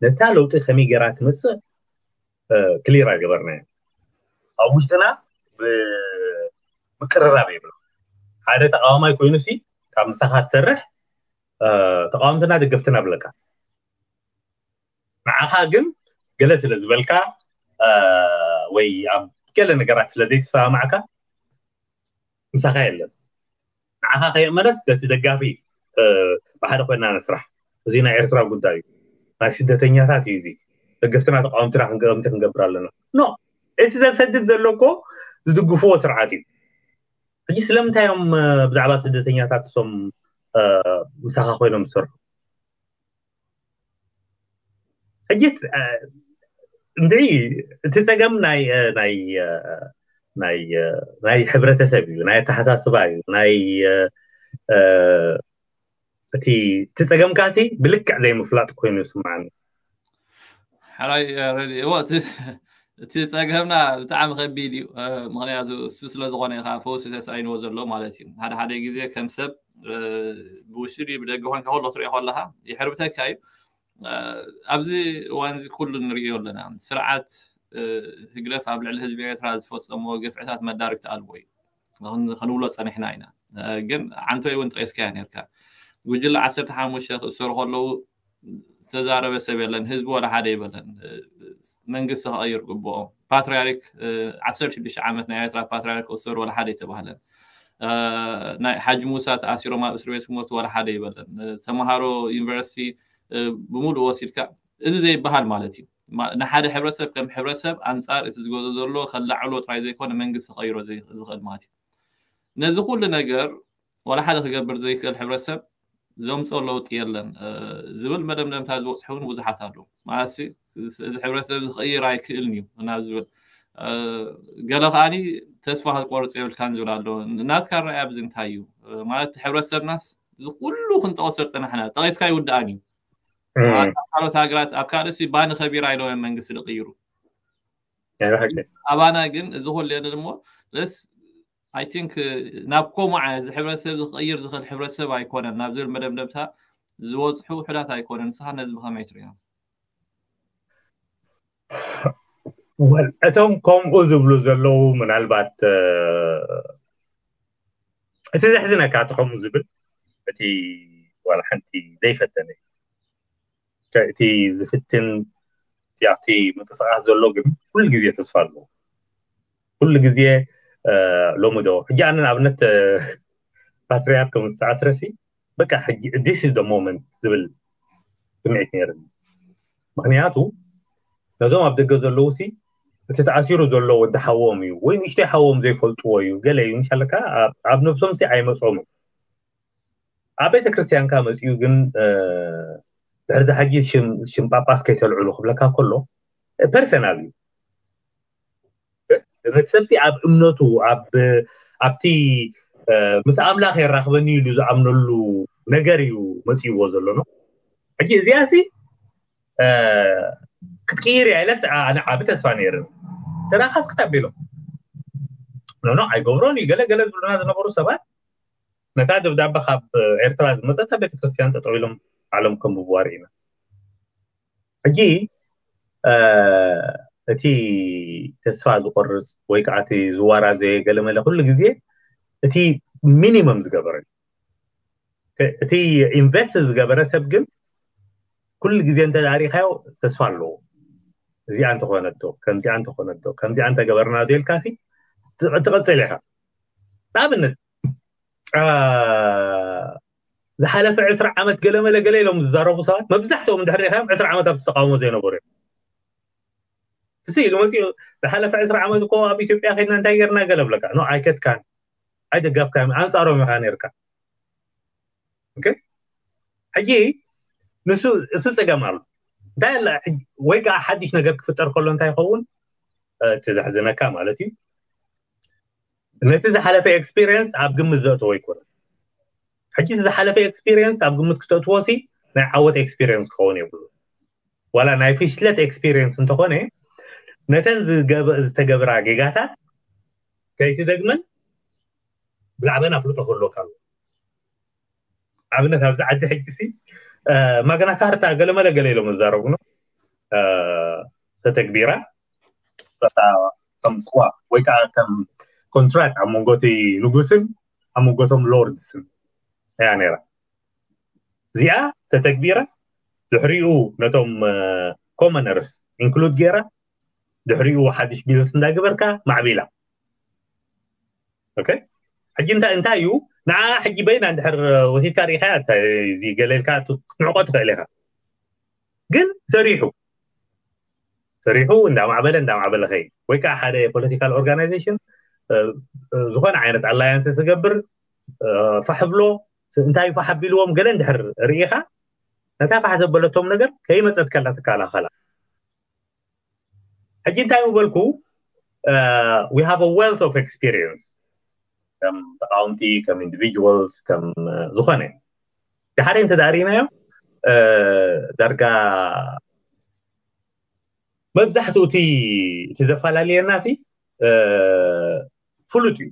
ነታ ለውጢ ከመይ ገይራ ትመፅእ ክሊር ኣይገበርናዮ። ኣብ ውሽጥና ምቅርራብ የብሉ። ሓደ ተቃዋማይ ኮይኑ ሲ ካብ ምሳኻ ትሰርሕ ተቃወምትና ደገፍትና ብለካ ንዓኻ ግን ገለ ስለ ዝበልካ ወይ ኣብ ገለ ነገራት ስለ ዘይተሰማማዕካ ምሳኻ የለን። ንዓኻ ከየእመነስ ነቲ ደጋፊ ብሓደ ኮይና ንስራሕ። እዚ ናይ ኤርትራ ጉዳይ እዩ። ናይ ስደተኛታት እዩ እዚ። ደገፍትና ተቃወምትና ክንገምቲ ክንገብር ኣለና። ኖ እቲ ዘሰድድ ዘሎ እኮ ዝድግፍዎ ስርዓት እዩ። ሕጂ ስለምንታይ እዮም ብዛዕባ ስደተኛታት እሶም ምሳኻ ኮይኖም ዝሰርሑ? ሕጂ እንድዒ እቲ ፀገም ናይ ናይ ናይ ናይ ሕብረተሰብ እዩ፣ ናይ ኣተሓሳስባ እዩ፣ ናይ እቲ እቲ ፀገምካ እቲ ብልክዕ ዘይምፍላጥ ኮይኑ ይስምዓኒ። ሕራይ ረድእዎ እቲ ፀገምና ብጣዕሚ ከቢድ እዩ። ምክንያቱ እሱ ስለዝኮነ ኢካ ፈውሲ ተሳኢንዎ ዘሎ ማለት እዩ። ሓደ ሓደ ግዜ ከም ሰብ ብውሽጢ ድዩ ብደገ ኮንካ ከሎ ትሪኦ ከለካ ይሕርብተካ እዩ። ኣብዚ እዋን እዚ ኩሉ ንሪኦ ኣለና። ስርዓት ህግደፍ ኣብ ልዕሊ ህዝቢ ኤርትራ ዝፈፀምዎ ግፍዕታት መዳርግቲ ኣልቦ እዩ ክንብሎ ፀኒሕና ኢና። ግን ዓንቶይ እውን ጠቂስካያ ነርካ። ጉጅለ ዓሰርተ ሓሙሽተ ክእሰሩ ከለዉ ዝተዛረበ ሰብ የለን። ህዝቢ ወላ ሓደ ይበለን። መንግስቲ ክቐይር ግብኦ። ፓትሪያርክ ዓሰርተ ሽዱሽተ ዓመት ናይ ኤርትራ ፓትሪያርክ ክእሰሩ ወላ ሓደ ይተባህለን። ናይ ሓጂ ሙሳ ተኣሲሮም ኣብ እስር ቤት ክሞቱ ወላ ሓደ ይበለን። ተምሃሮ ዩኒቨርሲቲ ብምሉእ ወሲድካ፣ እዚ ዘይበሃል ማለት እዩ። ንሓደ ሕብረተሰብ ከም ሕብረተሰብ ኣንጻር እቲ ዝገዞ ዘሎ ከላዕሎ ጥራይ ዘይኮነ መንግስቲ ክቐይሮ ዝኽእል ማለት እዩ። ነዚ ኩሉ ነገር ወላ ሓደ ክገብር ዘይክእል ሕብረተሰብ ዘምፅኦ ለውጢ የለን ዝብል መደምደምታ ዝበፅሑ እውን ብዙሓት ኣለዉ። ማለት እዚ ሕብረተሰብ ክቕይር ኣይክእልን እዩ ናብ ዝብል፣ ገለ ከዓኒ ተስፋ ክትቆርፅ የብልካን ዝብል ኣሎ። ናትካ ራእይ ኣብዚ እንታይ እዩ? ማለት ሕብረተሰብናስ እዚ ኩሉ ክንጠቕሶ ዝፀናሕና ጠቒስካ ይውድኣን እዩ። ካልኦት ሃገራት ኣብ ካልእ ባኒ ከቢራ ኢሎም መንግስቲ ዝቕይሩ። ኣባና ግን እዚ ኩሉ የለን እሞ ስ I think ናብ ከምኡ ዓይነት እዚ ሕብረተሰብ ዝቕይር ዝኽእል ሕብረተሰብ ኣይኮነን ናብ ዝብል መደምደምታ ዝበፅሑ ውሑዳት ኣይኮነን። ንስኻ ነዚ ብኸመይ ትሪኦ? እቶም ከምኡ ዝብሉ ዘለዉ ምናልባት እቲ ዘሕዝነካ እቲ ከምኡ ዝብል እቲ ዋላ ሓንቲ ዘይፈተነ እቲ ዝፍትን ኣብቲ ምንቅስቃስ ዘሎ ግን ኩሉ ግዜ ተስፋ ኣለዎ። ኩሉ ግዜ ሎሚ ዶ ሕጂ ኣነ ንኣብነት ፓትሪያርክ ምስ ተኣስረሲ በቃ ሕጂ this is the moment ዝብል ስምዒት ነይርኒ። ምክንያቱ ነዞም ኣብ ደገ ዘለዉ ሲ እቲ ተኣሲሩ ዘሎ ወዲ ሓዎም እዩ ወይ ንእሽተይ ሓዎም ዘይፈልጥዎ እዩ ገለ እዩ ምሻለካ ኣብ ነብሶም ሲ ኣይመፅኦምን። ኣብ ቤተክርስትያንካ መፅኡ ግን ድሕሪ ዝሓጂ ሽም ጳጳስ ከይተልዕሉ ክብለካ ከሎ ፐርሰናል እዩ። ነቲ ሰብሲ ኣብ እምነቱ ኣብቲ ምስ ኣምላኽ የራኽበኒ ኢሉ ዝኣምነሉ ነገር እዩ መፅእዎ ዘሎ ነው። ሕጂ እዚኣ ሲ ክትቅይር እያ ኢለ ኣነ ዓቢ ተስፋ ነይርኒ። ተራኻስ ክታቢሎም ኖኖ ኣይገብሮን እዩ ገለ ገለ ዝብሉና ዝነበሩ ሰባት ነታ ደብዳበ ካብ ኤርትራ ዝመፀት ኣብ ቤተክርስትያን ጠጠው ኢሎም ዓለም ከንብብዋ ርኢና። ሕጂ እቲ ተስፋ ዝቆርፅ ወይ ከዓ እቲ ዝዋራዘየ ገለመለ ኩሉ ግዜ እቲ ሚኒመም ዝገበረ እቲ ኢንቨስት ዝገበረ ሰብ ግን ኩሉ ግዜ እንተዳሪካዮ ተስፋ ኣለዎ። እዚኣ እንተኾነቶ ከምዚኣ እንተኾነቶ ከምዚኣ እንተገበርና ዶ ኢልካሲ ትቐፅል ኢኻ። ንኣብነት ዝሓለፈ ዕስራ ዓመት ገለመለ ገለ ኢሎም ዝዛረቡ ሰባት መብዛሕትኦም እንድሕር ሪኢኻዮም ዕስራ ዓመት ኣብቲ ተቃውሞ ዘይነበሩ እዮም። እዚ ኢሉ መፂኡ ዝሓለፈ ዕስራ ዓመት እኮ ኣብ ኢትዮጵያ ከድና እንታይ ገርና ገለ ብለካ ኖ ኣይከድካን ኣይደጋፍካን ኣንፃሮም ኢኻ ነርካ። ሕጂ ንሱ እሱ ፀገም ኣሎ እንታይ ኣለ ወይ ከዓ ሓድሽ ነገር ክፍጠር ከሎ እንታይ ይኸውን እቲ ዘሕዝነካ ማለት እዩ። ነቲ ዝሓለፈ ኤክስፒሪየንስ ኣብ ግምት ዘእተዎ ኣይኮነን። ሕጂ እቲ ዝሓለፈ ኤክስፒሪየንስ ኣብ ግምት ክተእትዎ ሲ ናይ ዓወት ኤክስፒሪየንስ ክኸውን የብሉ ዋላ ናይ ፍሽለት ኤክስፒሪየንስ እንተኾነ ነተን ዝተገብራ ጌጋታት ከይትደግመን ብዛዕበን ኣፍልጦ ክህልወካ ኣለዎ። ኣብነት ኣብዚ ዓዲ ሕጂ ሲ ማግና ካርታ ገለመለ ገለ ኢሎም ዝዛረቡ ነው ተተግቢራ ከም ጥዋፍ ወይ ከዓ ከም ኮንትራክት ኣብ መንጎ እቲ ንጉስን ኣብ መንጎቶም ሎርድስን እያ ነይራ። እዚኣ ተተግቢራ ድሕሪኡ ነቶም ኮመነርስ ኢንክሉድ ገይራ ድሕሪኡ ሓድሽ ቢዝነስ እንዳገበርካ ማዕቢላ። ኦኬ ሕጂ እንታይ እንታይ እዩ ንዓ ሕጂ በይና እንድሕር ወሲድካ ርኢኻ እዚ ገለልካ ክትንዕቆ ትኽእል ኢኻ። ግን ሰሪሑ ሰሪሑ እንዳማዕበለ እንዳማዕበለ ከይ ወይ ከዓ ሓደ ፖለቲካል ኦርጋናይዜሽን ዝኾነ ዓይነት ኣላያንስ ዝገብር ፋሕ ብሎ እንታይ ፋሕ ኣቢልዎም ገለ እንድሕር ርኢኻ ነታ ፋሕ ዘበለቶም ነገር ከይመፀት ከላ ትከላኸላ። ሕጂ እንታይ ምበልኩ we have a wealth of experience ከም ተቃወምቲ ከም individuals ከም ዝኾነ ድሓደ እንተ ዳሪናዮ ዳርጋ መብዛሕትኡ እቲ እቲ ዘፈላለየና እቲ ፍሉጥ እዩ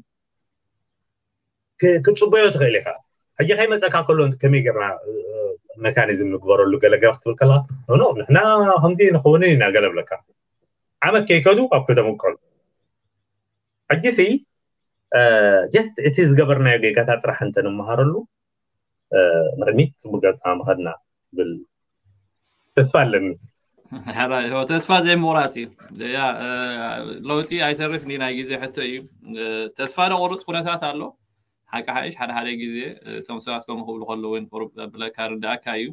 ክትፅበዮ ትኽእል ኢኻ። ሕጂ ከይመፀካ ከሎ ከመይ ጌርና መካኒዝም ንግበረሉ ገለገለ ክትብል ከለካ ኖ ንሕና ከምዚ ንኸውን ኢና ገለ ብለካ ዓመት ከይከዱ ኣብ ከተመቀሉ ሕጂ ሲ ጀስት እቲ ዝገበርናዮ ጌጋታት ጥራሕ እንተንመሃረሉ ንቅድሚት ፅቡቅ ገፃ ምኸድና ብል ተስፋ ኣለኒ። ተስፋ ዘይምቁራፅ እዩ። ለውጢ ኣይተርፍ ናይ ግዜ ሕቶ እዩ። ተስፋ ደቆርፅ ኩነታት ኣሎ። ሓቂ ሓይሽ ሓደ ሓደ ግዜ እቶም ሰባት ከምኡ ክብሉ ከለዉ ወይ ቁሩብ ብለካ ርዳእካ እዩ።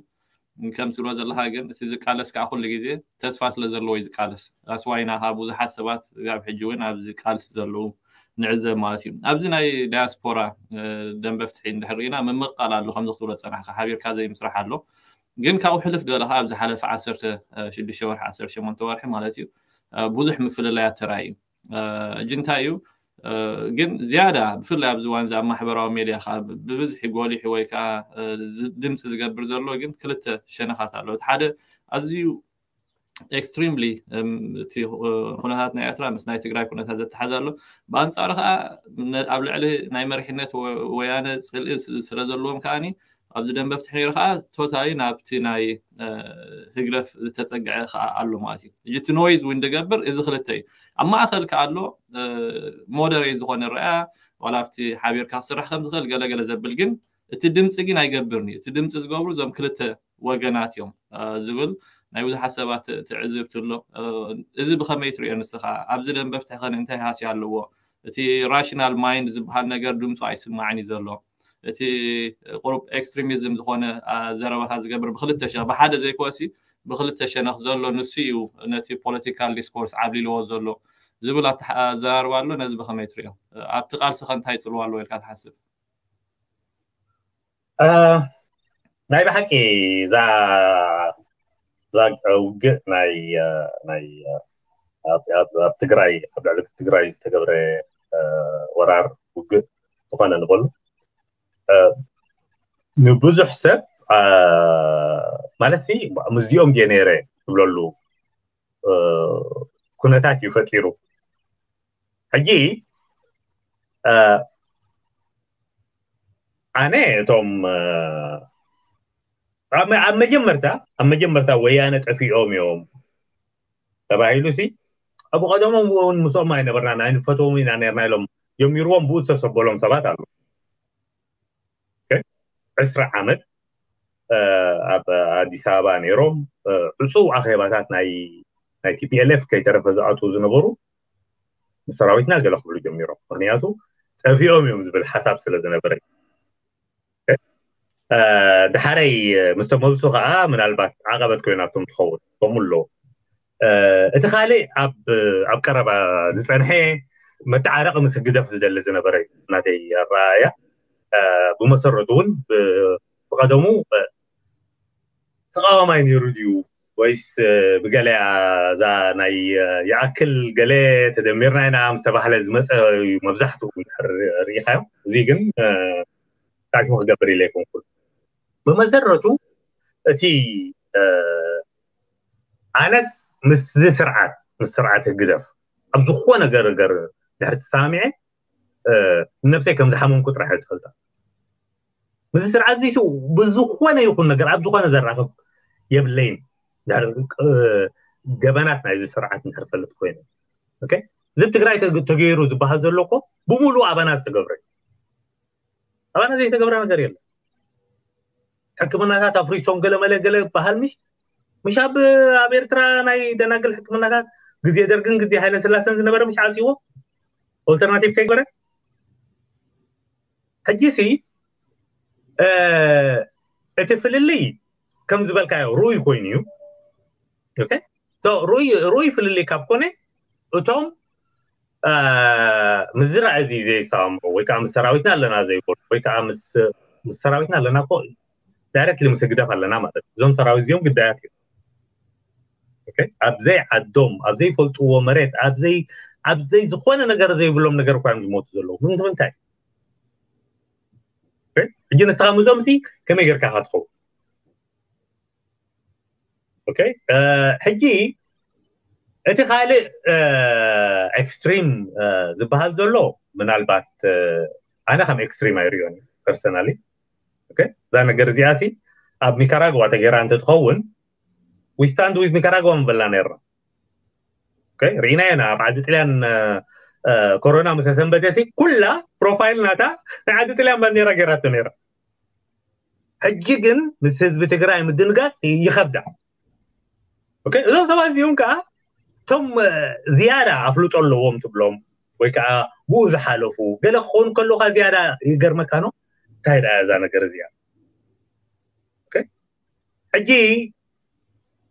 ከም ትብሎ ዘለካ ግን እቲ ዝቃለስ ከዓ ኩሉ ግዜ ተስፋ ስለ ዘለዎ እዩ ዝቃለስ። ኣስዋይና ካብ ብዙሓት ሰባት ኣብ ሕጂ እውን ኣብዚ ቃልሲ ዘለዉ ንዕዘብ ማለት እዩ። ኣብዚ ናይ ዳያስፖራ ደንበ ፍትሒ እንድሕር ርኢና ምምቕቃል ኣሎ። ከምዚ ክትብሎ ዝፀናሕካ ሓቢርካ ዘይምስራሕ ኣሎ። ግን ካብኡ ሕልፍ ዝበለ ከዓ ኣብ ዝሓለፈ ዓሰርተ ሽዱሽተ ወርሒ ዓሰርተ ሸሞንተ ወርሒ ማለት እዩ ብዙሕ ምፍልላያት ተራእዩ። ሕጂ እንታይ እዩ ግን ዝያዳ ብፍላይ ኣብዚ እዋን እዚ ኣብ ማሕበራዊ ሜድያ ከዓ ብብዝሒ ጎሊሑ ወይ ከዓ ድምፂ ዝገብር ዘሎ ግን ክልተ ሸነኻት ኣሎ። እቲ ሓደ ኣዝዩ ኤክስትሪምሊ እቲ ኩነታት ናይ ኤርትራ ምስ ናይ ትግራይ ኩነታት ዘተሓዝ ኣሎ። ብኣንፃሩ ከዓ ኣብ ልዕሊ ናይ መሪሕነት ወያነ ፅልኢ ስለ ዘለዎም ከዓኒ ኣብዚ ደንበ ፍትሒ ነይሩ ከዓ ቶታሊ ናብቲ ናይ ህግደፍ ዝተፀግዐ ከዓ ኣሎ ማለት እዩ። ሕጂ እቲ ኖይዝ እውን ዝገብር እዚ ክልተ እዩ። ኣብ ማእከል ከዓ ኣሎ ሞደሬት ዝኾነ ረኣያ ዋላ ኣብቲ ሓቢርካ ክስራሕ ከም ዝኽእል ገለገለ ዘብል ግን እቲ ድምፂ ግን ኣይገብርን እዩ። እቲ ድምፂ ዝገብሩ እዞም ክልተ ወገናት እዮም ዝብል ናይ ብዙሓት ሰባት ትዕዝብቲ ኣሎ። እዚ ብኸመይ ትሪኦ ንስኻ? ኣብዚ ደንበ ፍትሒ ኸ እንታይ ሃስያ ኣለዎ? እቲ ራሽናል ማይንድ ዝበሃል ነገር ድምፁ ኣይስማዕን እዩ ዘሎ። እቲ ቁሩብ ኤክስትሪሚዝም ዝኾነ ዘረባታት ዝገብር ብክልተ ሸነኽ ብሓደ ዘይኮሲ ብክልተ ሸነኽ ዘሎ ንሱ እዩ ነቲ ፖለቲካል ዲስኮርስ ዓብሊልዎ ዘሎ ዝብል ኣዘራርባ ኣሎ። ነዚ ብኸመይ ትሪኦ? ኣብቲ ቃልሲ ኸ እንታይ ፅልዋ ኣለዎ ኢልካ ትሓስብ? ናይ ብሓቂ እዛ ውግእ ናይ ናይ ኣብ ትግራይ ኣብ ልዕሊ ትግራይ ዝተገብረ ወራር ውግእ ዝኾነ ንበሉ ንብዙሕ ሰብ ማለት ምስዚኦም ድየ ነይረ ትብለሉ ኩነታት እዩ ፈጢሩ። ሕጂ ኣነ እቶም ኣብ መጀመርታ ኣብ መጀመርታ ወያነ ጠፊኦም እዮም ተባሂሉ ሲ ኣብ ቀደሞም እውን ምስኦም ኣይነበርና ኣይንፈትዎም ኢና ነርና ኢሎም ጀሚርዎም ብኡ ዝተሰበሎም ሰባት ኣሎ። ዕስራ ዓመት ኣብ ኣዲስ ኣበባ ነይሮም ዕፁው ኣኼባታት ናይ ናይ ቲፒኤልኤፍ ከይተረፈ ዝኣትዉ ዝነበሩ ንሰራዊትና ገለ ክብሉ ጀሚሮም። ምክንያቱ ጠፊኦም እዮም ዝብል ሓሳብ ስለ ዝነበረ ድሓረይ ምስ ተመልሱ ከዓ ምናልባት ዓቐበት ኮይናቶም ትኸውን ከምኡ ኣለዎ። እቲ ካልእ ኣብ ኣብ ቀረባ ዝፀንሐ መተዓረቂ ምስ ህግደፍ ዝደሊ ዝነበረ እዩ ናተይ ኣረኣእያ። ብመሰረቱ እውን ብቐደሙ ተቃዋማይ ነይሩ ድዩ ወይስ ብገለ እዛ ናይ ይኣክል ገለ ተደሚርና ኢና ምስ ተባህለ ዝመፀ እዩ መብዛሕትኡ ርኢኻዮ። እዚ ግን ታሪክ ክገብር ኢለ ኣይኮንኩን። ብመሰረቱ እቲ ኣነስ ምስዚ ስርዓት ምስ ስርዓት ህግደፍ ኣብ ዝኾነ ገርገር ድሕሪ ተሰማሚዐ ነብሰይ ከም ዝሓመምኩ ጥራሕ እየ ዝፈልጣ። ምስዚ ስርዓት እዚ ብዝኾነ ይኹን ነገር ኣብ ዝኾነ ዘራኽብ የብለይን። ገበናት ናይዚ ስርዓት እንድሕር ፈልጥ ኮይነ እዚ ትግራይ ተገይሩ ዝበሃል ዘሎ እኮ ብምሉእ ኣባና ዝተገብረ ኣባና ዘይተገብረ ነገር የለን። ሕክምናታት ኣፍሪሶም ገለ መለ ገለ በሃል ምሽ ምሽ ኣብ ኣብ ኤርትራ ናይ ደናግል ሕክምናታት ግዜ ደርግን ግዜ ሃይለ ስላሰን ዝነበረ ምሽ ዓፅዎ ኦልተርናቲቭ ከይገበረ ሕጂ ሲ እቲ ፍልልይ ከም ዝበልካዮ ሩይ ኮይኑ እዩ። ሩይ ፍልልይ ካብ ኮነ እቶም ምስዚ ራእዚ ዘይሰማምዑ ወይ ከዓ ምስ ሰራዊትና ኣለና ዘይበሉ ወይ ከዓ ምስ ሰራዊትና ኣለና ኮ ዳይረክትሊ ምስ ህግደፍ ኣለና ማለት እዩ። እዞም ሰራዊት እዚኦም ግዳያት እዮም። ኣብዘይ ዓዶም ኣብዘይ ፈልጥዎ መሬት ኣብዘይ ኣብዘይ ዝኾነ ነገር ዘይብሎም ነገር እኳ እዮም ዝሞቱ ዘለዉ። ምንትምንታይ ሕጂ ንስኻ ምስኦም ሲ ከመይ ጌርካ ኢኻ ትኸውን? ሕጂ እቲ ካልእ ኤክስትሪም ዝበሃል ዘሎ ምናልባት ኣነ ከም ኤክስትሪም ኣይሪኦን ፐርሰናሊ። እዛ ነገር እዚኣ ሲ ኣብ ኒካራግዋ ተገይራ እንተትኸውን ዊስታንድ ዊዝ ኒካራግዋ ምበልና ነርና። ርኢናዮ ኢና ኣብ ዓዲ ጥልያን ኮሮና ምስ ሰንበተሲ ኩላ ፕሮፋይል ናታ ናይ ዓዲ ጥልያን ባንዴራ ገይራቶ ነይራ። ሕጂ ግን ምስ ህዝቢ ትግራይ ምድንጋጽ ይኸብዳ። እዞም ሰባት እዚኦም ከዓ እቶም ዝያዳ ኣፍልጦ ኣለዎም ትብሎም ወይ ከዓ ብኡ ዝሓለፉ ገለ ክኸውን ከለካ ዝያዳ ይገርመካ ነው። እንታይ ደኣ እዛ ነገር እዚኣ? ሕጂ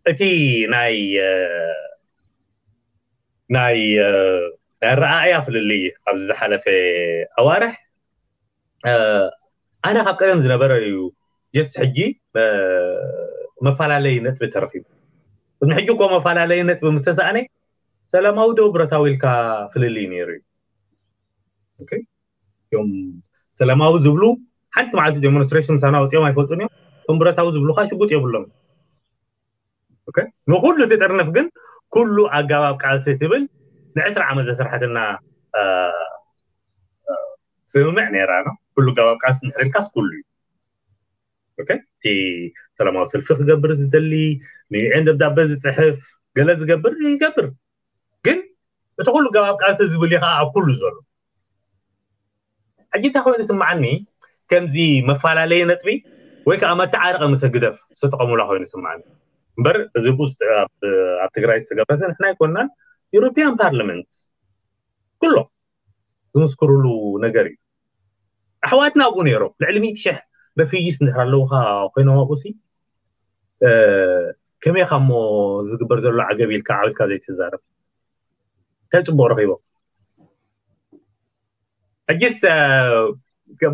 እቲ ናይ ናይ ኣረኣእያ ፍልልይ ኣብዚ ዝሓለፈ ኣዋርሕ ኣነ ካብ ቀደም ዝነበረ እዩ። ጀስት ሕጂ መፈላለይ ነጥቢ ተረኺቡ። ቅድሚ ሕጂ እኮ መፈላለይ ነጥቢ ምስተሰኣነ ሰላማዊ ዶ ብረታዊ ኢልካ ፍልልይ ነይሩ እዩ። እዮም ሰላማዊ ዝብሉ ሓንቲ መዓልቲ ዴሞንስትሬሽን ምሳና ወፂኦም ኣይፈልጡን እዮም። እቶም ብረታዊ ዝብሉ ከዓ ሽጉጥ የብሎም። ንኩሉ እቲ ጥርንፍ ግን ኩሉ ኣገባብ ቃልሲ ትብል ንዕስራ ዓመት ዘስርሐትና ስምምዕ ነይራ ነው። ኩሉ ኣገባብ ቃልሲ ንሕሪልካስ ኩሉ እዩ። እቲ ሰላማዊ ሰልፊ ክገብር ዝደሊ ንዩኤን ደብዳበ ዝፅሕፍ ገለ ዝገብር ይገብር። ግን እቲ ኩሉ ኣገባብ ቃልሲ ዝብል እዩ ከዓ ኣብ ኩሉ ዘሎ። ሕጂ እንታይ ኮይኑ ስምዓኒ ከምዚ መፈላለየ ነጥቢ ወይ ከዓ መተዓረቂ ምስ ህግደፍ ዝተጠቐሙላ ኮይኑ ስምዓኒ እምበር እዚ ቡስ ኣብ ትግራይ ዝተገብረሰ ንሕና ኣይኮንናን። ዩሮፒያን ፓርላመንት ኩሎ ዝምስክሩሉ ነገር እዩ። ኣሕዋትና ኣብኡ ነይሮም ልዕሊ ሚእቲ ሽሕ ረፊጂስ እንድሕር ኣለውካ ኮይኖም ኣብኡ ሲ ከመይ ካሞ ዝግበር ዘሎ ዓገብ ኢልካ ዓብልካ ዘይትዛረብ እንታይ ፅቡቅ ረኪቦም? ሕጂስ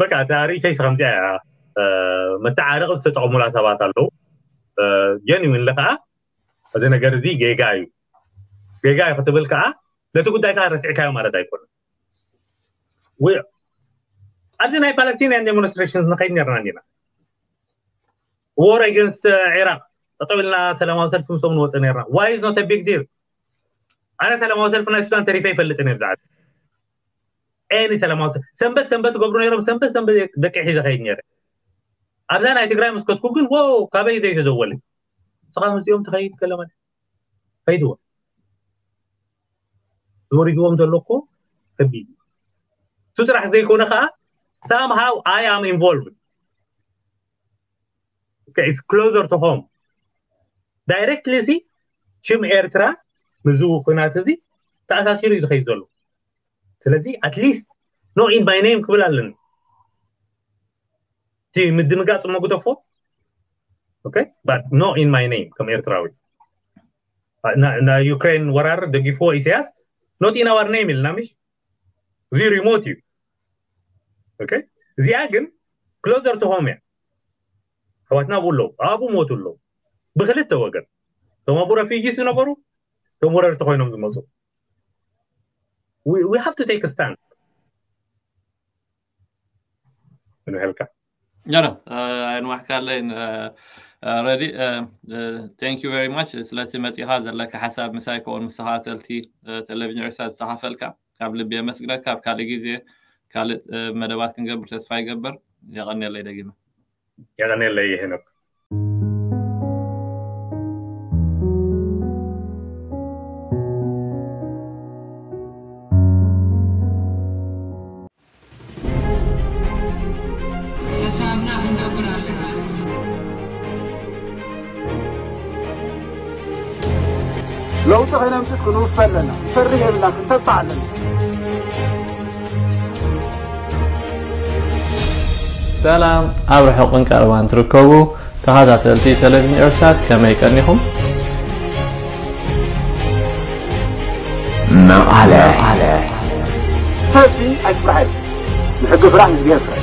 በቃ እታ ርእይቶይስ ከምዚኣ እያ። መተዓረቂ ዝተጠቐሙላ ሰባት ኣለዉ። ጀኒዊንሊ ከዓ እዚ ነገር እዚ ጌጋ እዩ። ጌጋ እዩ ክትብል ከዓ ነቲ ጉዳይ ከዓ ረሲዕካዮ ማለት ኣይኮነን። ኣብዚ ናይ ፓለስቲንያን ዴሞንስትሬሽን ንኸይድ ነርና እንዲና። ዎር ኣገንስት ኢራቅ ጠጠው ኢልና ሰላማዊ ሰልፊ ምስኦም ንወፅእ ነርና። ዋይ ኢዝ ኖት ቢግ ዲል። ኣነ ሰላማዊ ሰልፊ ናይ ሱዳን ተሪፈ ይፈልጥን እየ ብዛዕባ ኤኒ ሰላማዊ ሰልፊ ሰንበት ሰንበት ገብሩ ነይሮም። ሰንበት ሰንበት ደቂ ሒዘ ከይድ ነይረ። ኣብዛ ናይ ትግራይ ምስ ከድኩ ግን ዎ ካበይ ዘይተዘወለ ስኻ ምስኦም ትኸይድ ከለመ ከይድዎ ዝወሪድዎም ዘሎ እኮ ከቢድ እዩ። እሱ ጥራሕ ዘይኮነ ከዓ somehow I am involved. Okay, it's closer to home. Directly ሲ ሽም ኤርትራ ምዝው ኩናት እዚ ተኣሳሲሩ እዩ ዝኸይድ ዘሎ። ስለዚ at least no in my name ክብል ኣለኒ። እቲ ምድንጋፅ እሞ ግደፎ። Okay, but no in my name ከም ኤርትራዊ ናይ ዩክሬን ወራር ደጊፍዎ ኢሳያስ not in our name ኢልና ምሽ እዚ ሪሞት እዩ። Okay፣ እዚኣ ግን closer to home እያ። ኣሕዋትና ኣብኡ ኣለዉ፣ ኣብኡ ሞቱ ኣለዉ። ብክልተ ወገን እቶም ኣብኡ ረፊጂስ ዝነበሩ እቶም ወረርቲ ኮይኖም ዝመፁ we have to take a stand። እንብሐልካ ኖ ኖ ኣይንዋሕካለይ ረዲ thank you very much ስለቲ መፂኻ ዘለካ ሓሳብ ምሳይ ከምኡውን ምስ ተኸታተልቲ ቴሌቪዥን ኤርትራ ዝተኻፈልካ ካብ ልቢ የመስግነካ ኣብ ካልእ ግዜ ካልእ መደባት ክንገብር ተስፋ ይገብር የቐንየለይ ደጊመ የቐንየለይ ሄኖክ ለውጢ ከነምፅእ ክንውፈ ኣለና። ፈርህ የብልና፣ ክንተባዕ ኣለና። ሰላም ኣብ ርሑቕን ቀረባን ትርከቡ ተኸታተልቲ ቴሌቪዥን ኤርትሳት ከመይ ቀኒኹም? መቐለ ሰልፊ ኣይፍራሕ እዩ። ንሕጊ ፍራሕ ንእግዚኣብሔር ፍራሕ።